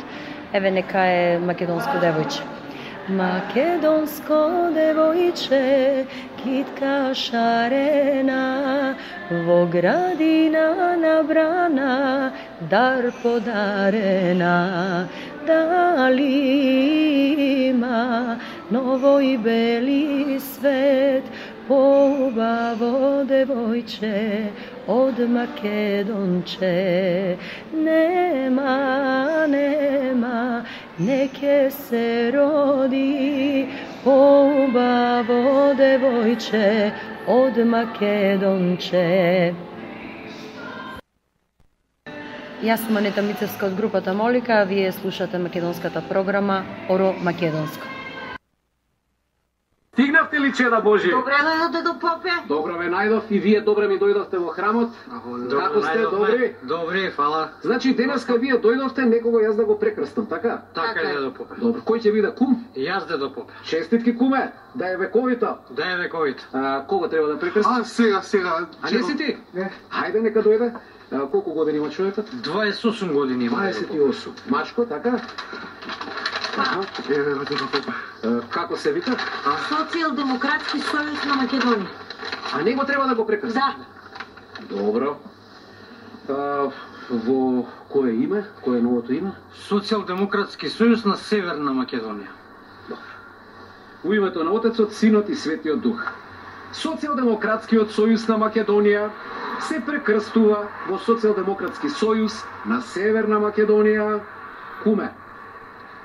Speaker 7: еве нека е Македонско девојче. Македонско девојче, китка шарена, во градина набрана, дар подарена, дали има новој бели свет, поубаво девојче од Македонче. Нема, нема, не ке се роди, поубаво девојче од Македонче. Јас сум Анета Мицевска од групата Молика, а вие слушате македонската програма Оро Македонско.
Speaker 8: Стигнавте ли, чеда Божи?
Speaker 9: Добре дојдовте до попе.
Speaker 8: Добро ве најдов и вие добре ми дојдовте во храмот. Како сте, добри?
Speaker 9: Добри, фала.
Speaker 8: Значи денеска вие дојдовте некого јас да го прекрстам, така?
Speaker 9: Така е, дедо попе.
Speaker 8: Добро, кој ќе биде кум?
Speaker 9: Јас, дедо попе.
Speaker 8: Честитки, куме, да е вековита.
Speaker 9: Да е вековита.
Speaker 8: А, кого треба да прекрстам?
Speaker 10: А, сега, сега.
Speaker 8: А не си ти?
Speaker 10: Не.
Speaker 8: Хајде, нека дојде. А, колку години има човекот?
Speaker 9: дваесет и осум години има.
Speaker 8: дваесет и осум. Мачко, така?
Speaker 10: Аха, еве, дедо попе.
Speaker 8: Како се вика?
Speaker 9: Социјалдемократски сојуз на Македонија.
Speaker 8: А него треба да го прекрстам?
Speaker 9: Да.
Speaker 8: Добро. А, Во кое име? Кое е новото име?
Speaker 9: Социјалдемократски сојуз на Северна Македонија.
Speaker 8: Во името на Отецот, Синот и Светиот Дух. Социјалдемократскиот сојуз на Македонија се прекрстува во Социјалдемократски сојуз на Северна Македонија. Куме,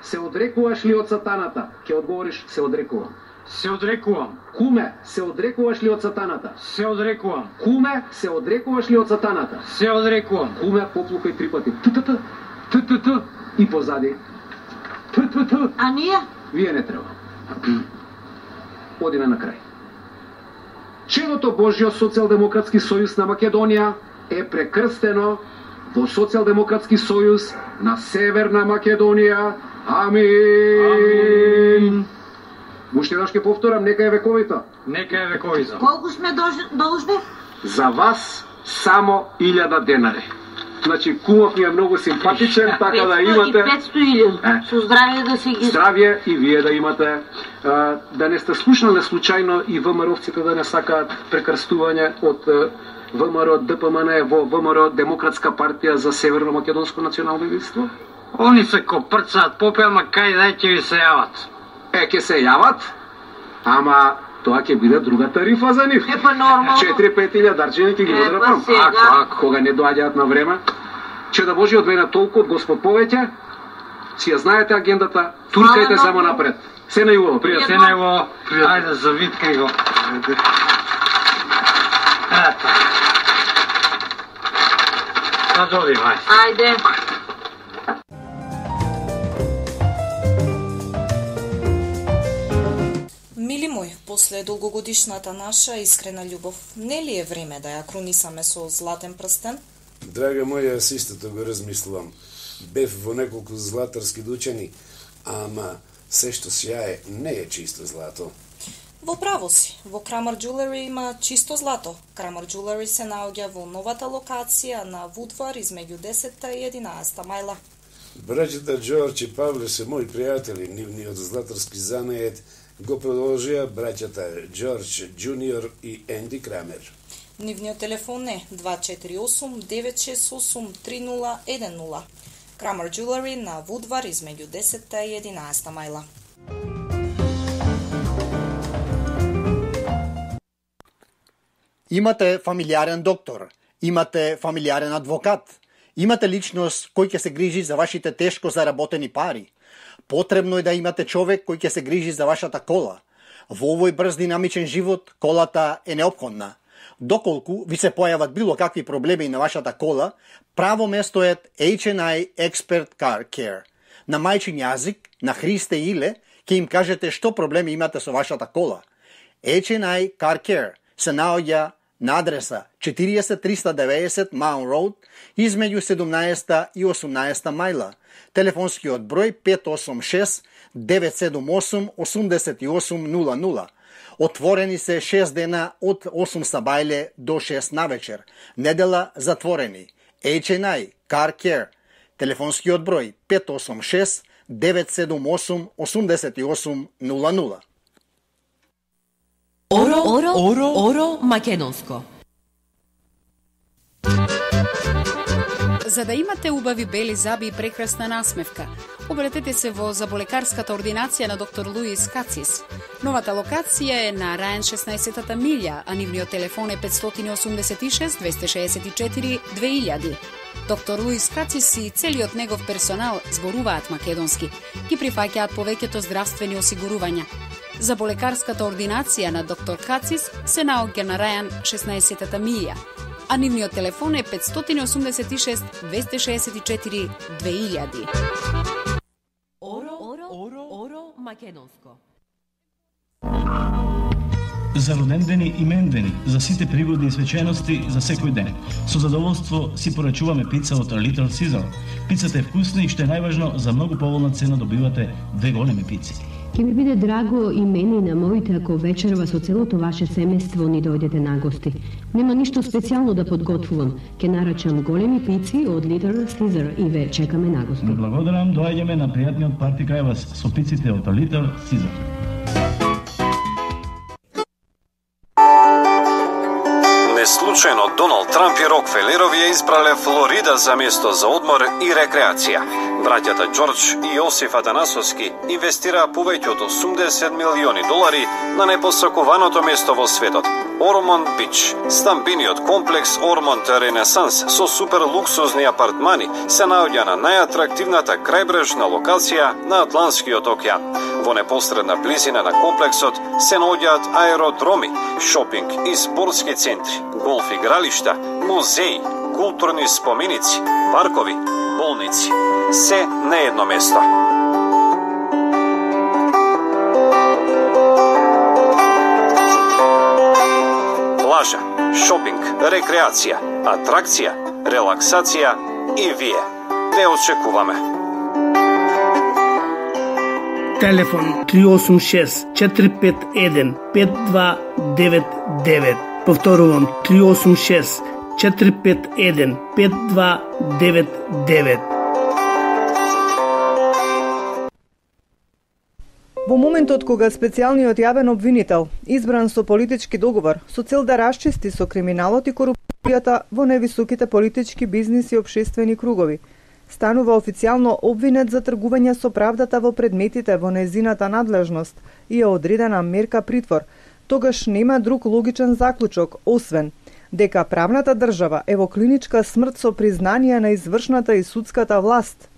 Speaker 8: се одрекуваш ли од сатаната? Ке одговориш, се одрекувам.
Speaker 9: Се одрекувам.
Speaker 8: Куме, се одрекуваш ли од сатаната?
Speaker 9: Се одрекувам.
Speaker 8: Куме, се одрекуваш ли од сатаната?
Speaker 9: Се одрекувам.
Speaker 8: Куме, поплукај три пати. Т-т-т, т-т-т и позади. Т-т-т.
Speaker 9: А ние?
Speaker 8: Вие не треба. Одиме на крај. Чедото Божјо Социјалдемократски сојуз на Македонија е прекрстено во Социјалдемократски сојуз на Северна Македонија. Амин. Уште еднаш ќе повторам, нека е вековито.
Speaker 9: Нека е вековито. Колку сме должни?
Speaker 8: За вас само илјада денари. Значи, кумов ми е многу симпатичен, така да имате...
Speaker 9: петстотин илјади. Со здравје да се ги...
Speaker 8: Здравје и вие да имате. Да не сте слушнале случајно и ВМРО-вците да не сакаат прекрстување од ВМРО ДПМН во ВМРО Демократска партија за Северно Македонско национално единство?
Speaker 9: Они се копрцаат попел, ма кај дај ќе ви се јават.
Speaker 8: Е, ќе се јават, ама тоа ќе биде друга тарифа за нив.
Speaker 9: Е, па нормално.
Speaker 8: четири-пет илјадарчини ќе ги одрапам. Ако, ако, кога не доаѓаат на време. Че да Божи од мене толку, од Господ повеќе, си ја знаете агендата, туркајте само напред. Се најубаво, пријатно.
Speaker 9: Се најубаво. Ајде, завиткај го. Ето. Па доди, мај.
Speaker 2: Ајде. Мили мој, после долгогодишната наша искрена љубов, не ли е време да ја крунисаме со златен прстен?
Speaker 1: Драга моја, јас истото го размислувам. Бев во неколку златарски дучани, ама се што сјае не е чисто злато.
Speaker 2: Во право си, во Крамер Jewelry има чисто злато. Крамер Jewelry се наоѓа во новата локација на Вудвар измеѓу десетта и единаесетта мајла.
Speaker 1: Браќата Џорџ и Павле се мои пријатели, нивниот златарски занает го продолжија браќата Џорџ Џуниор и Енди Крамер.
Speaker 2: Нивниот телефон е два четири осум девет шест осум три нула еден нула. Крамер Jewelry на Вудвар измеѓу десетта и единаесетта мајла.
Speaker 11: Имате фамилиарен доктор, имате фамилиарен адвокат, имате личност кој ќе се грижи за вашите тешко заработени пари. Потребно е да имате човек кој ќе се грижи за вашата кола. Во овој брз динамичен живот, колата е неопходна. Доколку ви се појават било какви проблеми на вашата кола, право место е Еич енд Ај Expert Car Care. На мајчин јазик, на Христе Иле, ќе им кажете што проблеми имате со вашата кола. Еич енд Ај Car Care се наоѓа на адреса четириесет триста деветдесет Маун Роуд, измеѓу седумнаесетта и осумнаесетта мајла. Телефонскиот број пет осум шест девет седум осум осум осум нула нула. Отворени се шест дена од осум сабајле до шест навечер. Недела затворени. Еич енд Ај Car Care. Телефонскиот број пет осум шест девет седум осум осум осум нула нула.
Speaker 12: Оро, оро, оро, оро македонско.
Speaker 13: За да имате убави бели заби и прекрасна насмевка, обратете се во заболекарската ординација на доктор Луис Кацис. Новата локација е на Рајан шеснаесетта милја, а нивниот телефон е пет осум шест двеста шеесет и четири две илјади. Доктор Луис Кацис и целиот негов персонал зборуваат македонски, ги прифаќаат повеќето здравствени осигурувања. Заболекарската ординација на доктор Кацис се наоѓа на Рајан шеснаесетта милја, а нивниот телефон е пет осум шест двеста шеесет и четири две илјади.
Speaker 12: Оро, оро, оро, оро македонско.
Speaker 14: За родендени и мендени, за сите пригодни свечености за секој ден. Со задоволство си порачуваме пица од Little Caesar. Пицата е вкусна и што е најважно, за многу поволна цена добивате две големи пици.
Speaker 15: Ке ми биде драго и мене и на моите ако вечерва со целото ваше семејство ни дојдете на гости. Нема ништо специјално да подготвувам. Ке нарачам големи пици од Little Caesar и ве чекаме на гости.
Speaker 14: Благодарам, доаѓаме на пријатниот парти кај вас со пиците од Little Caesar.
Speaker 16: Не случај Случајно Доналд Трамп и Рокфелерови ја избрале Флорида за место за одмор и рекреација. Браќата Џорџ и Јосиф Атанасовски инвестираа повеќе од осумдесет милиони долари на непосакуваното место во светот – Ормонд Бич. Стамбениот комплекс Ормонд Ренесанс со супер луксузни апартмани се наоѓа на најатрактивната крајбрежна локација на Атлантскиот океан. Во непосредна близина на комплексот се наоѓаат аеродроми, шопинг и спортски центри, голф игралишта, музеи, културни споменици, паркови, болници. Се на едно место. Плажа, шопинг, рекреација, атракција, релаксација и вие. Ве очекуваме.
Speaker 5: Телефон три осум шест четири пет еден пет два девет девет. Повторувам три осум шест четири пет еден пет два девет девет.
Speaker 17: Во моментот кога специјалниот јавен обвинител, избран со политички договор, со цел да расчисти со криминалот и корупцијата во невисоките политички, бизнис и општествени кругови, станува официјално обвинет за тргување со правдата во предметите во незината надлежност и е одредена мерка притвор, тогаш нема друг логичен заклучок, освен дека правната држава е во клиничка смрт со признание на извршната и судската власт.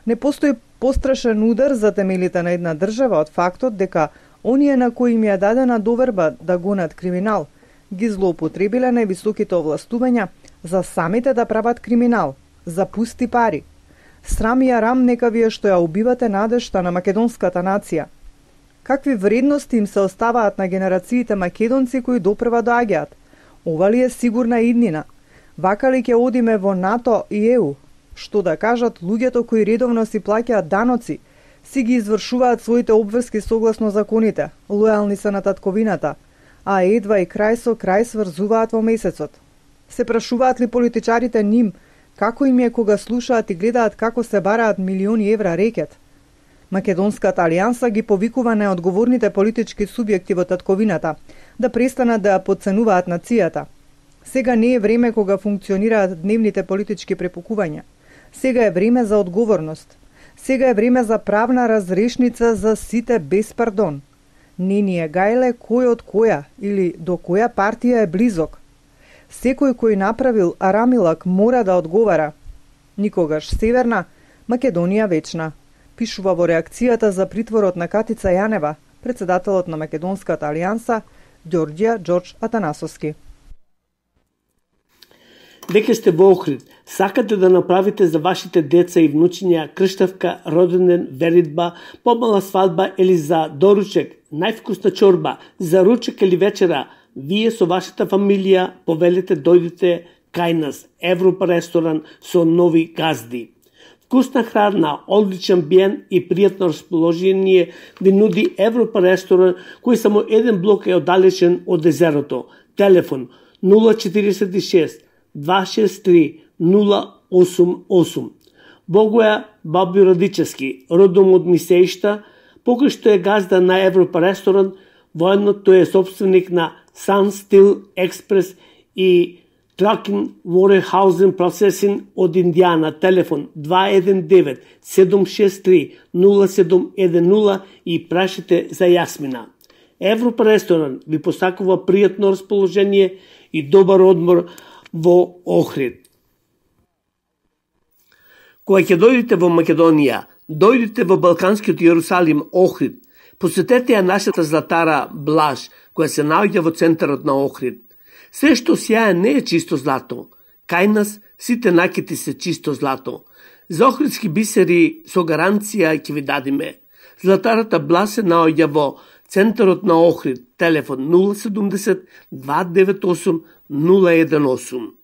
Speaker 17: Не постои пострашен удар за темелите на една држава од фактот дека оние на кои им ја дадена доверба да гонат криминал, ги злоупотребиле највисоките овластувања за самите да прават криминал, за пусти пари. Срам и арам нека вие што ја убивате надежта на македонската нација. Какви вредности им се оставаат на генерациите македонци кои допрва доаѓаат? Ова ли е сигурна иднина? Вака ли ќе одиме во НАТО и Е У? Што да кажат луѓето кои редовно си плаќаат даноци, си ги извршуваат своите обврски согласно законите, лојални се на татковината, а едва и крај со крај сврзуваат во месецот. Се прашуваат ли политичарите ним како им е кога слушаат и гледаат како се бараат милиони евра рекет? Македонската алијанса ги повикува неодговорните политички субјекти во татковината да престанат да ја потценуваат нацијата. Сега не е време кога функционираат дневните политички препукувања. Сега е време за одговорност. Сега е време за правна разрешница за сите без пардон. Не ни е гајле кој од која или до која партија е близок. Секој кој направил арамилак мора да одговара. Никогаш Северна, Македонија вечна. Пишува во реакцијата за притворот на Катица Јанева, председателот на Македонската алијанса, Ѓорѓија Џорџ Атанасовски.
Speaker 5: Дека сте во Охрид, сакате да направите за вашите деца и внучиња крштавка, роденден, веридба, помала свадба или за доручек, највкусна чорба, за ручек или вечера, вие со вашата фамилија повелите дојдите кај нас, Европа ресторан со нови газди. Вкусна храна, одличен биен и пријатно расположение ви нуди Европа ресторан, кој само еден блок е оддалечен од езерото. Телефон нула четириесет и шест два шест три нула осум осум. Богоја Баби Радичевски, родом од Мисеишта, покој што е газда на Европа ресторан, воедно тој е собственик на Sun Steel Express и Trucking Warehousing Processing од Индијана. Телефон два еден девет седум шест три нула седум еден нула и прашите за Јасмина. Европа ресторан ви посакува пријатно расположение и добар одмор во Охрид. Кога ќе дојдете во Македонија, дојдете во Балканскиот Јерусалим, Охрид. Посетете ја нашата златара Блаж, која се наоѓа во центарот на Охрид. Се што сјае не е чисто злато. Кај нас сите накити се чисто злато. За охридски бисери со гаранција ќе ви дадиме. Златарата Блаж се наоѓа во центарот на Охрид. Телефон нула седумдесет два девет осум нула еден осум.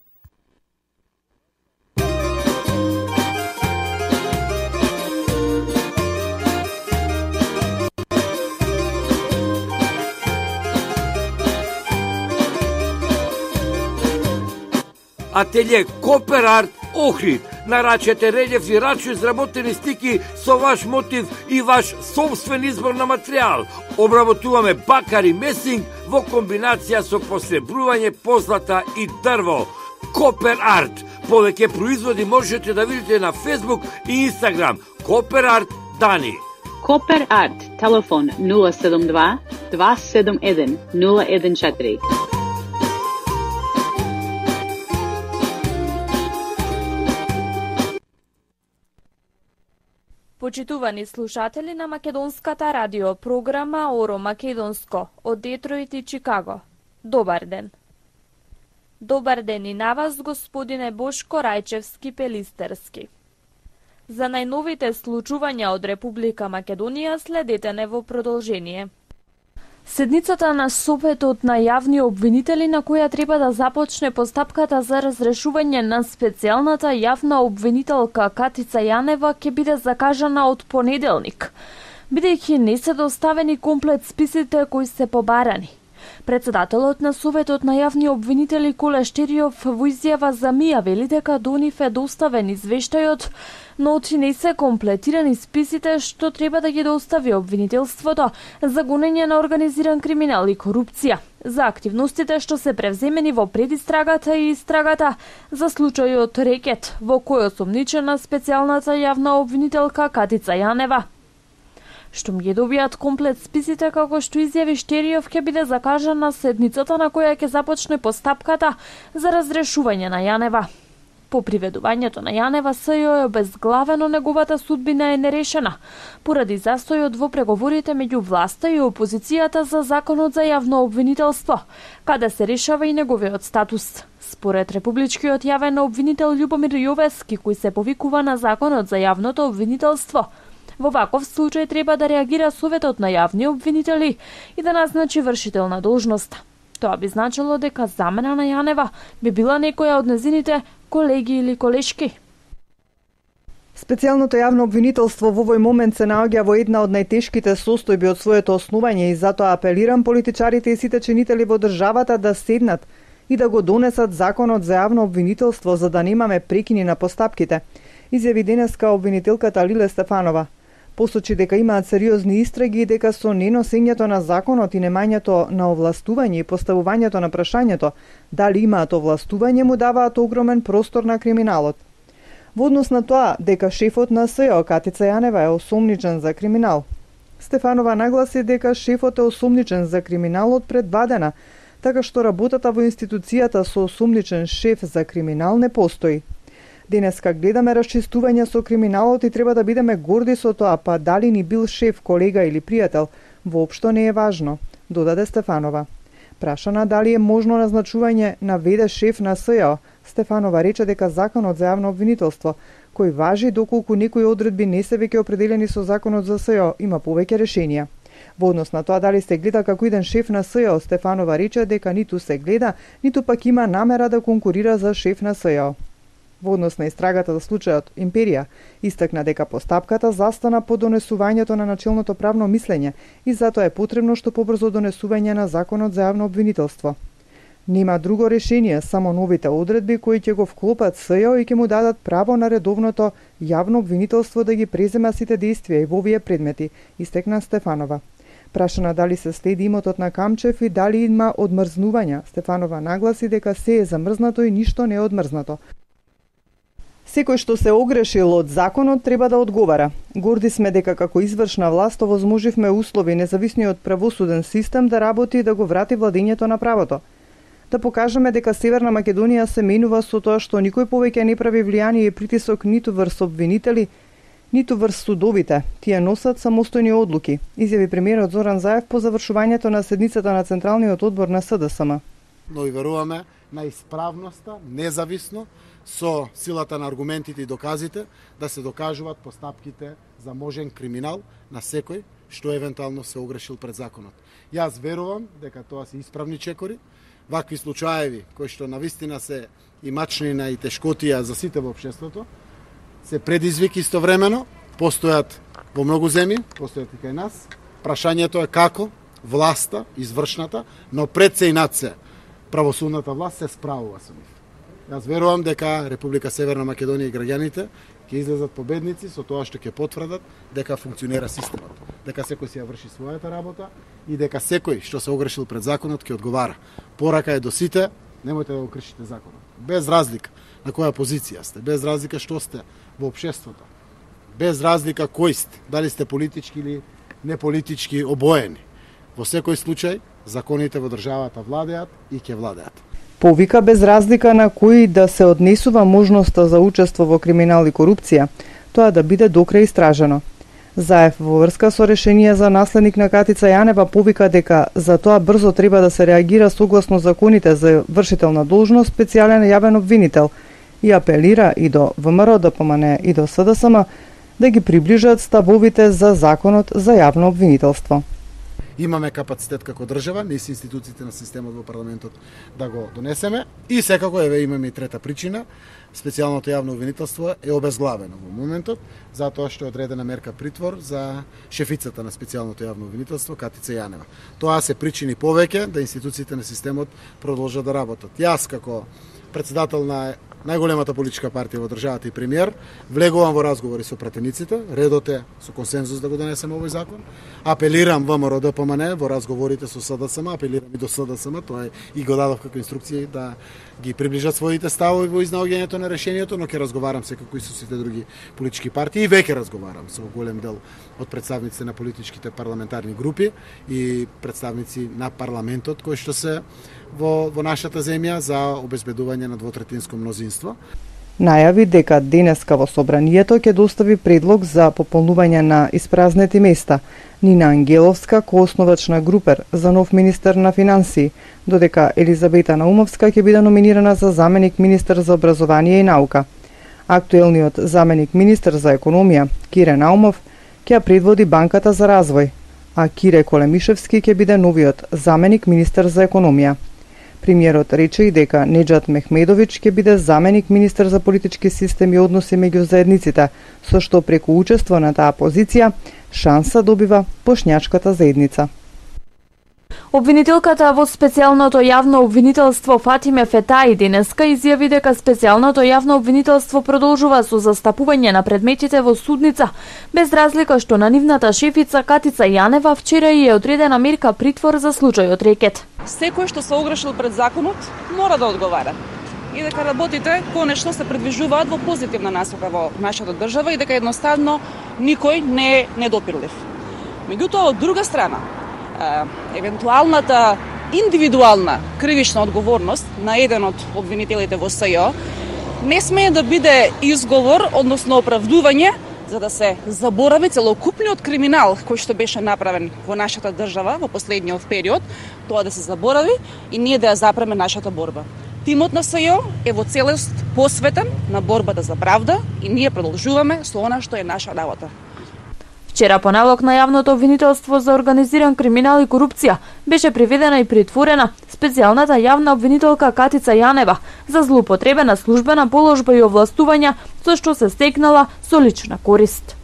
Speaker 18: Ателје Копер Арт Охрид. Нарачете релефни рачно изработени стики со ваш мотив и ваш собствен избор на материјал. Обработуваме бакар и месинг во комбинација со посребрување, позлата и дрво. Копер Арт. Повеќе производи можете да видите на Facebook и Instagram. Копер Арт Дани.
Speaker 19: Копер Арт. Телефон нула седум два два седум еден нула еден четири.
Speaker 20: Почитувани слушатели на македонската радио програма Оро Македонско од Детройт и Чикаго. Добар ден. Добар ден и на вас, господине Бошко Рајчевски-Пелистерски. За најновите случувања од Република Македонија следете не во продолжение. Седницата на Советот на јавни обвинители на која треба да започне постапката за разрешување на специјалната јавна обвинителка Катица Јанева ќе биде закажана од понеделник, бидејќи не се доставени комплет списите кои се побарани. Председателот на Советот на јавни обвинители Коле Штериов во изјава за МИА вели дека до нив е доставен извештајот, но не се комплетирани списите што треба да ги достави обвинителството за гонење на организиран криминал и корупција, за активностите што се превземени во предистрагата и истрагата за случајот Рекет, во кој осомничена специјалната јавна обвинителка Катица Јанева. Штом ги добијат комплет списите, како што изјави Штериов, ќе биде закажана седницата на која ќе започне постапката за разрешување на Јанева. По приведувањето на Јанева, СЈО е обезглавено, неговата судбина е нерешена, поради застојот во преговорите меѓу власта и опозицијата за законот за јавно обвинителство, каде се решава и неговиот статус. Според републичкиот јавен обвинител Љубомир Јовески, кој се повикува на законот за јавното обвинителство, во ваков случај треба да реагира Советот на јавни обвинители и да назначи вршител на должност. Тоа би значило дека замена на Јанева би била некоја од незините колеги или колешки.
Speaker 17: Специјалното јавно обвинителство во овој момент се наоѓа во една од најтешките состојби од своето основање и затоа апелирам политичарите и сите чинители во државата да седнат и да го донесат законот за јавно обвинителство за да немаме прекини на постапките, изјави денеска обвинителката Лиле Стефанова. Посочи дека имаат сериозни истраги и дека со неносењето на законот и немањето на овластување и поставувањето на прашањето дали имаат овластување му даваат огромен простор на криминалот. Во однос на тоа дека шефот на СЈО Катица Јанева е осомничен за криминал. Стефанова нагласи дека шефот е осомничен за криминалот пред два дена, така што работата во институцијата со осомничен шеф за криминал не постои. Денеска гледаме расчистување со криминалот и треба да бидеме горди со тоа, па дали ни бил шеф, колега или пријател, воопшто не е важно, додаде Стефанова. Прашана дали е можно назначување на ве-де шеф на СЈО, Стефанова рече дека законот за јавно обвинителство, кој важи доколку некои одредби не се веќе определени со законот за СЈО, има повеќе решенија. Во однос на тоа дали се гледа како еден шеф на СЈО, Стефанова рече дека ниту се гледа, ниту пак има намера да конкурира за шеф на СЈО. Во однос на истрагата за случајот Империја, истакна дека постапката застана по донесувањето на начелното правно мислење и затоа е потребно што побрзо донесување на законот за јавно обвинителство. Нема друго решение, само новите одредби кои ќе го вклопат СЈО и ќе му дадат право на редовното јавно обвинителство да ги презема сите действија и во овие предмети, истекна Стефанова. Прашана дали се следи имотот на Камчев и дали има одмрзнувања, Стефанова нагласи дека се е замрзнато и ништо не е одмрзнато. Секој што се огрешил од законот треба да одговара. Горди сме дека како извршна власт овозможивме услови независниот правосуден систем да работи и да го врати владењето на правото. Да покажеме дека Северна Македонија се менува со тоа што никој повеќе не прави влијание и притисок ниту врз обвинители, ниту врз судовите. Тие носат самостојни одлуки, изјави премиерот Зоран Заев по завршувањето на седницата на Централниот одбор на СДСМ.
Speaker 21: Но и веруваме на исправноста, независно, со силата на аргументите и доказите, да се докажуваат постапките за можен криминал на секој што евентуално се огрешил пред законот. Јас верувам дека тоа се исправни чекори, вакви случаеви кои што навистина се и мачнина и тешкотија за сите во општеството, се предизвик истовремено, постојат во многу земји, постојат и кај нас. Прашањето е како власта, извршната, но пред се и над се, правосудната власт се справува со нив. Јас верувам дека Република Северна Македонија и граѓаните ќе излезат победници со тоа што ќе потврдат дека функционира системот, дека секој си ја врши својата работа и дека секој што се огрешил пред законот ќе одговара. Порака е до сите, немојте да го кршите законот. Без разлика на која позиција сте, без разлика што сте во општеството, без разлика кој сте, дали сте политички или неполитички обоени. Во секој случај, законите во државата владеат и ќе владеат.
Speaker 17: Повика без разлика на кои да се однесува можноста за учество во криминал и корупција, тоа да биде докрај истражено. Заев во врска со решение за наследник на Катица Јанева повика дека за тоа брзо треба да се реагира согласно законите за вршител на должност специјален јавен обвинител и апелира и до ВМРО, ДПМН и до СДСМ да ги приближат ставовите за законот за јавно обвинителство.
Speaker 21: Имаме капацитет како држава, низ институциите на системот во парламентот да го донесеме и секако еве имаме и трета причина. Специјалното јавно обвинителство е обезглавено во моментот, затоа што е одредена мерка притвор за шефицата на специјалното јавно обвинителство Катица Јанева. Тоа се причини повеќе да институциите на системот продолжат да работат. Јас како председател на најголемата политичка партија во државата и премиер, влегувам во разговори со пратениците, редот е со консензус да го донесеме овој закон. Апелирам ВМРО ДПМН во разговорите со СДСМ, апелирам и до СДСМ, тоа е и го дадов како инструкција да ги приближат своите ставови во изнаоѓањето на решението, но ќе разговарам секако и со сите други политички партии и веќе разговарам со голем дел од представниците на политичките парламентарни групи и представници на парламентот кои што се во, во нашата земја за обезбедување на двотретинско мнозинство.
Speaker 17: Најави дека денеска во собранието ќе достави предлог за пополнување на испразнети места. Нина Ангеловска, коосновачна групер за нов министер на финансии, додека Елизабета Наумовска ќе биде номинирана за заменик министер за образование и наука. Актуелниот заменик министер за економија, Кире Наумов, ќе предводи Банката за развој, а Кире Колемишевски ќе биде новиот заменик министер за економија. Премиерот рече и дека Неџат Мехмедовиќ ќе биде заменик министер за политички систем и односи меѓу заедниците, со што преку учество на таа позиција шанса добива бошњачката заедница.
Speaker 20: Обвинителката во специјалното јавно обвинителство Фатиме Фетаи денеска изјави дека специјалното јавно обвинителство продолжува со застапување на предметите во судница, без разлика што на нивната шефица Катица Јанева вчера и е одредена мерка притвор за случајот рекет.
Speaker 4: Секој што се огрешил пред законот мора да одговара. И дека работите конечно се придвижуваат во позитивна насока во нашата држава и дека едноставно никој не е недопирлив. Меѓутоа, од друга страна, евентуалната индивидуална кривична одговорност на еден од обвинителите во СЈО не смее да биде изговор, односно оправдување за да се заборави целокупниот криминал кој што беше направен во нашата држава во последниот период, тоа да се заборави и ние да ја запреме нашата борба. Тимот на СЈО е во целост посветен на борбата за правда и ние продолжуваме со она што е наша работа.
Speaker 20: Вчера по налог на јавното обвинителство за организиран криминал и корупција беше приведена и притворена специјалната јавна обвинителка Катица Јанева за злоупотреба на службена положба и овластувања со што се стекнала со лична корист.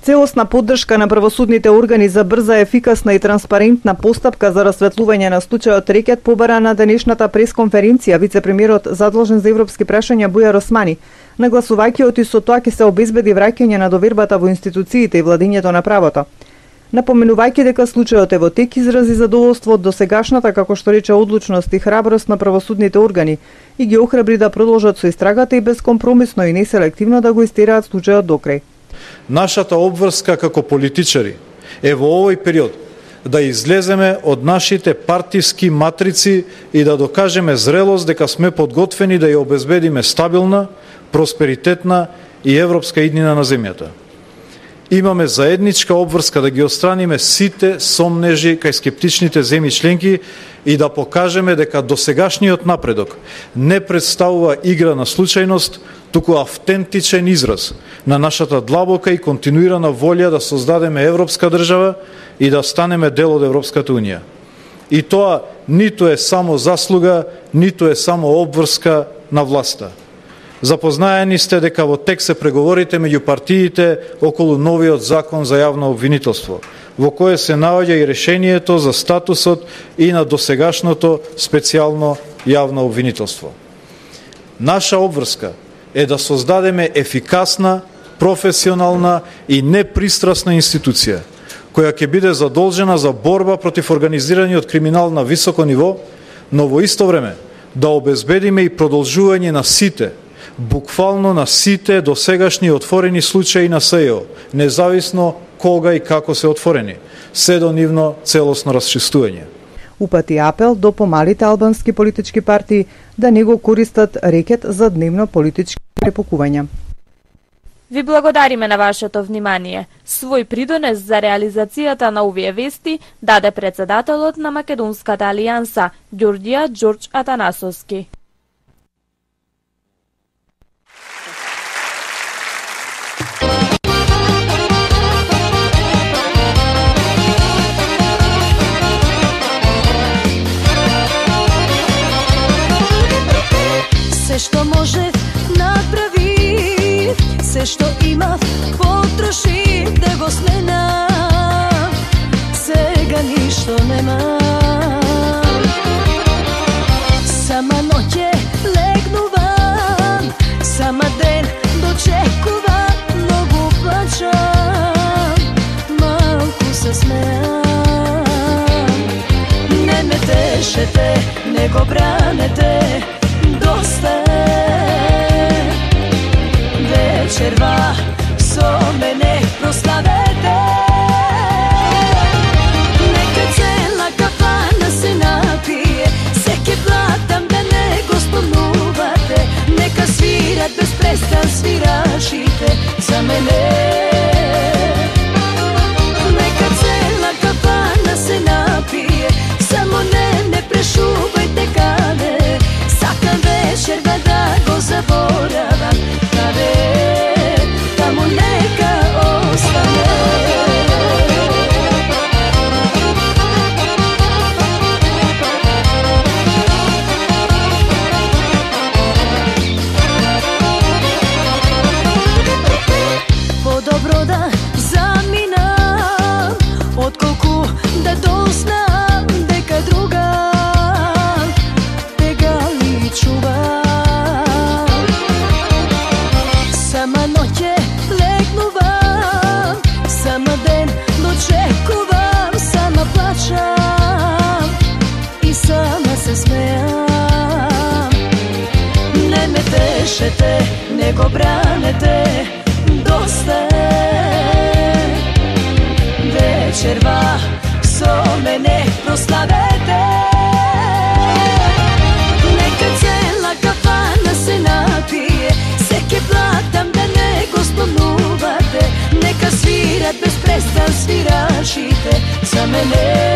Speaker 17: Целосна поддршка на правосудните органи за брза, ефикасна и транспарентна постапка за расветлување на случајот рекет побара на денешната пресконференција вице-премиерот задолжен за европски прашања Бујар Османи, нагласувајќи оти со тоа ќе се обезбеди враќање на довербата во институциите и владењето на правото. Напоменувајќи дека случајот е во тек, изрази задоволство од досегашната, како што рече, одлучност и храброст на правосудните органи и ги охрабри да продолжат со истрагата и безкомпромисно и неселективно да го истераат случајот докрај.
Speaker 22: Нашата обврска како политичари е во овој период да излеземе од нашите партиски матрици и да докажеме зрелост дека сме подготвени да ја обезбедиме стабилна, просперитетна и европска иднина на земјата. Имаме заедничка обврска да ги отстраниме сите сомнежи кај скептичните земји членки и да покажеме дека досегашниот напредок не представува игра на случајност, туку автентичен израз на нашата длабока и континуирана волја да создадеме европска држава и да станеме дел од Европската Унија. И тоа ниту е само заслуга, ниту е само обврска на власта. Запознаени сте дека во тек се преговорите меѓу партиите околу новиот закон за јавно обвинителство, во кое се наоѓа и решението за статусот и на досегашното специјално јавно обвинителство. Наша обврска е да создадеме ефикасна, професионална и непристрасна институција, која ќе биде задолжена за борба против организираниот криминал на високо ниво, но во исто време да обезбедиме и продолжување на сите, буквално на сите досегашни отворени случаи на СЈО, независно кога и како се отворени, се до нивно целосно расчистување.
Speaker 17: Упати апел до помалите албански политички партии да не го користат рекет за дневно политички препукувања.
Speaker 20: Ви благодариме на вашето внимание. Свој придонес за реализацијата на овие вести даде председателот на Македонската алијанса, Ѓорѓија Ѓорѓ Атанасовски.
Speaker 3: Се што можев направи, се што имав потроши да го сменам. Сега ништо немам. Сама ноќе легнувам, сама ден дочекувам, многу плачам, малку се смеам. Не ме тешете, не го бранете, доста е. Вечерва со мене прославете. Нека цела кафана се напие, се ке платам да не го спомнувате. Нека свират без престан свирачите за мене. Нека цела кафана се напие, само не ме прешувајте каде. Сакам вечерва да го заборавам, каде таму нека остане. Подобро да заминам, отколку да дознам дека друга тега ли чува. Сама ноќе легнувам, сама ден дочекувам, сама плачам и сама се смеам. Не ме тешете, не го бранете, доста е. Вечерва со мене прославете. Нека цела кафана се напие, се ке платам да не го спомнувате. Нека свират без престан свирачите за мене.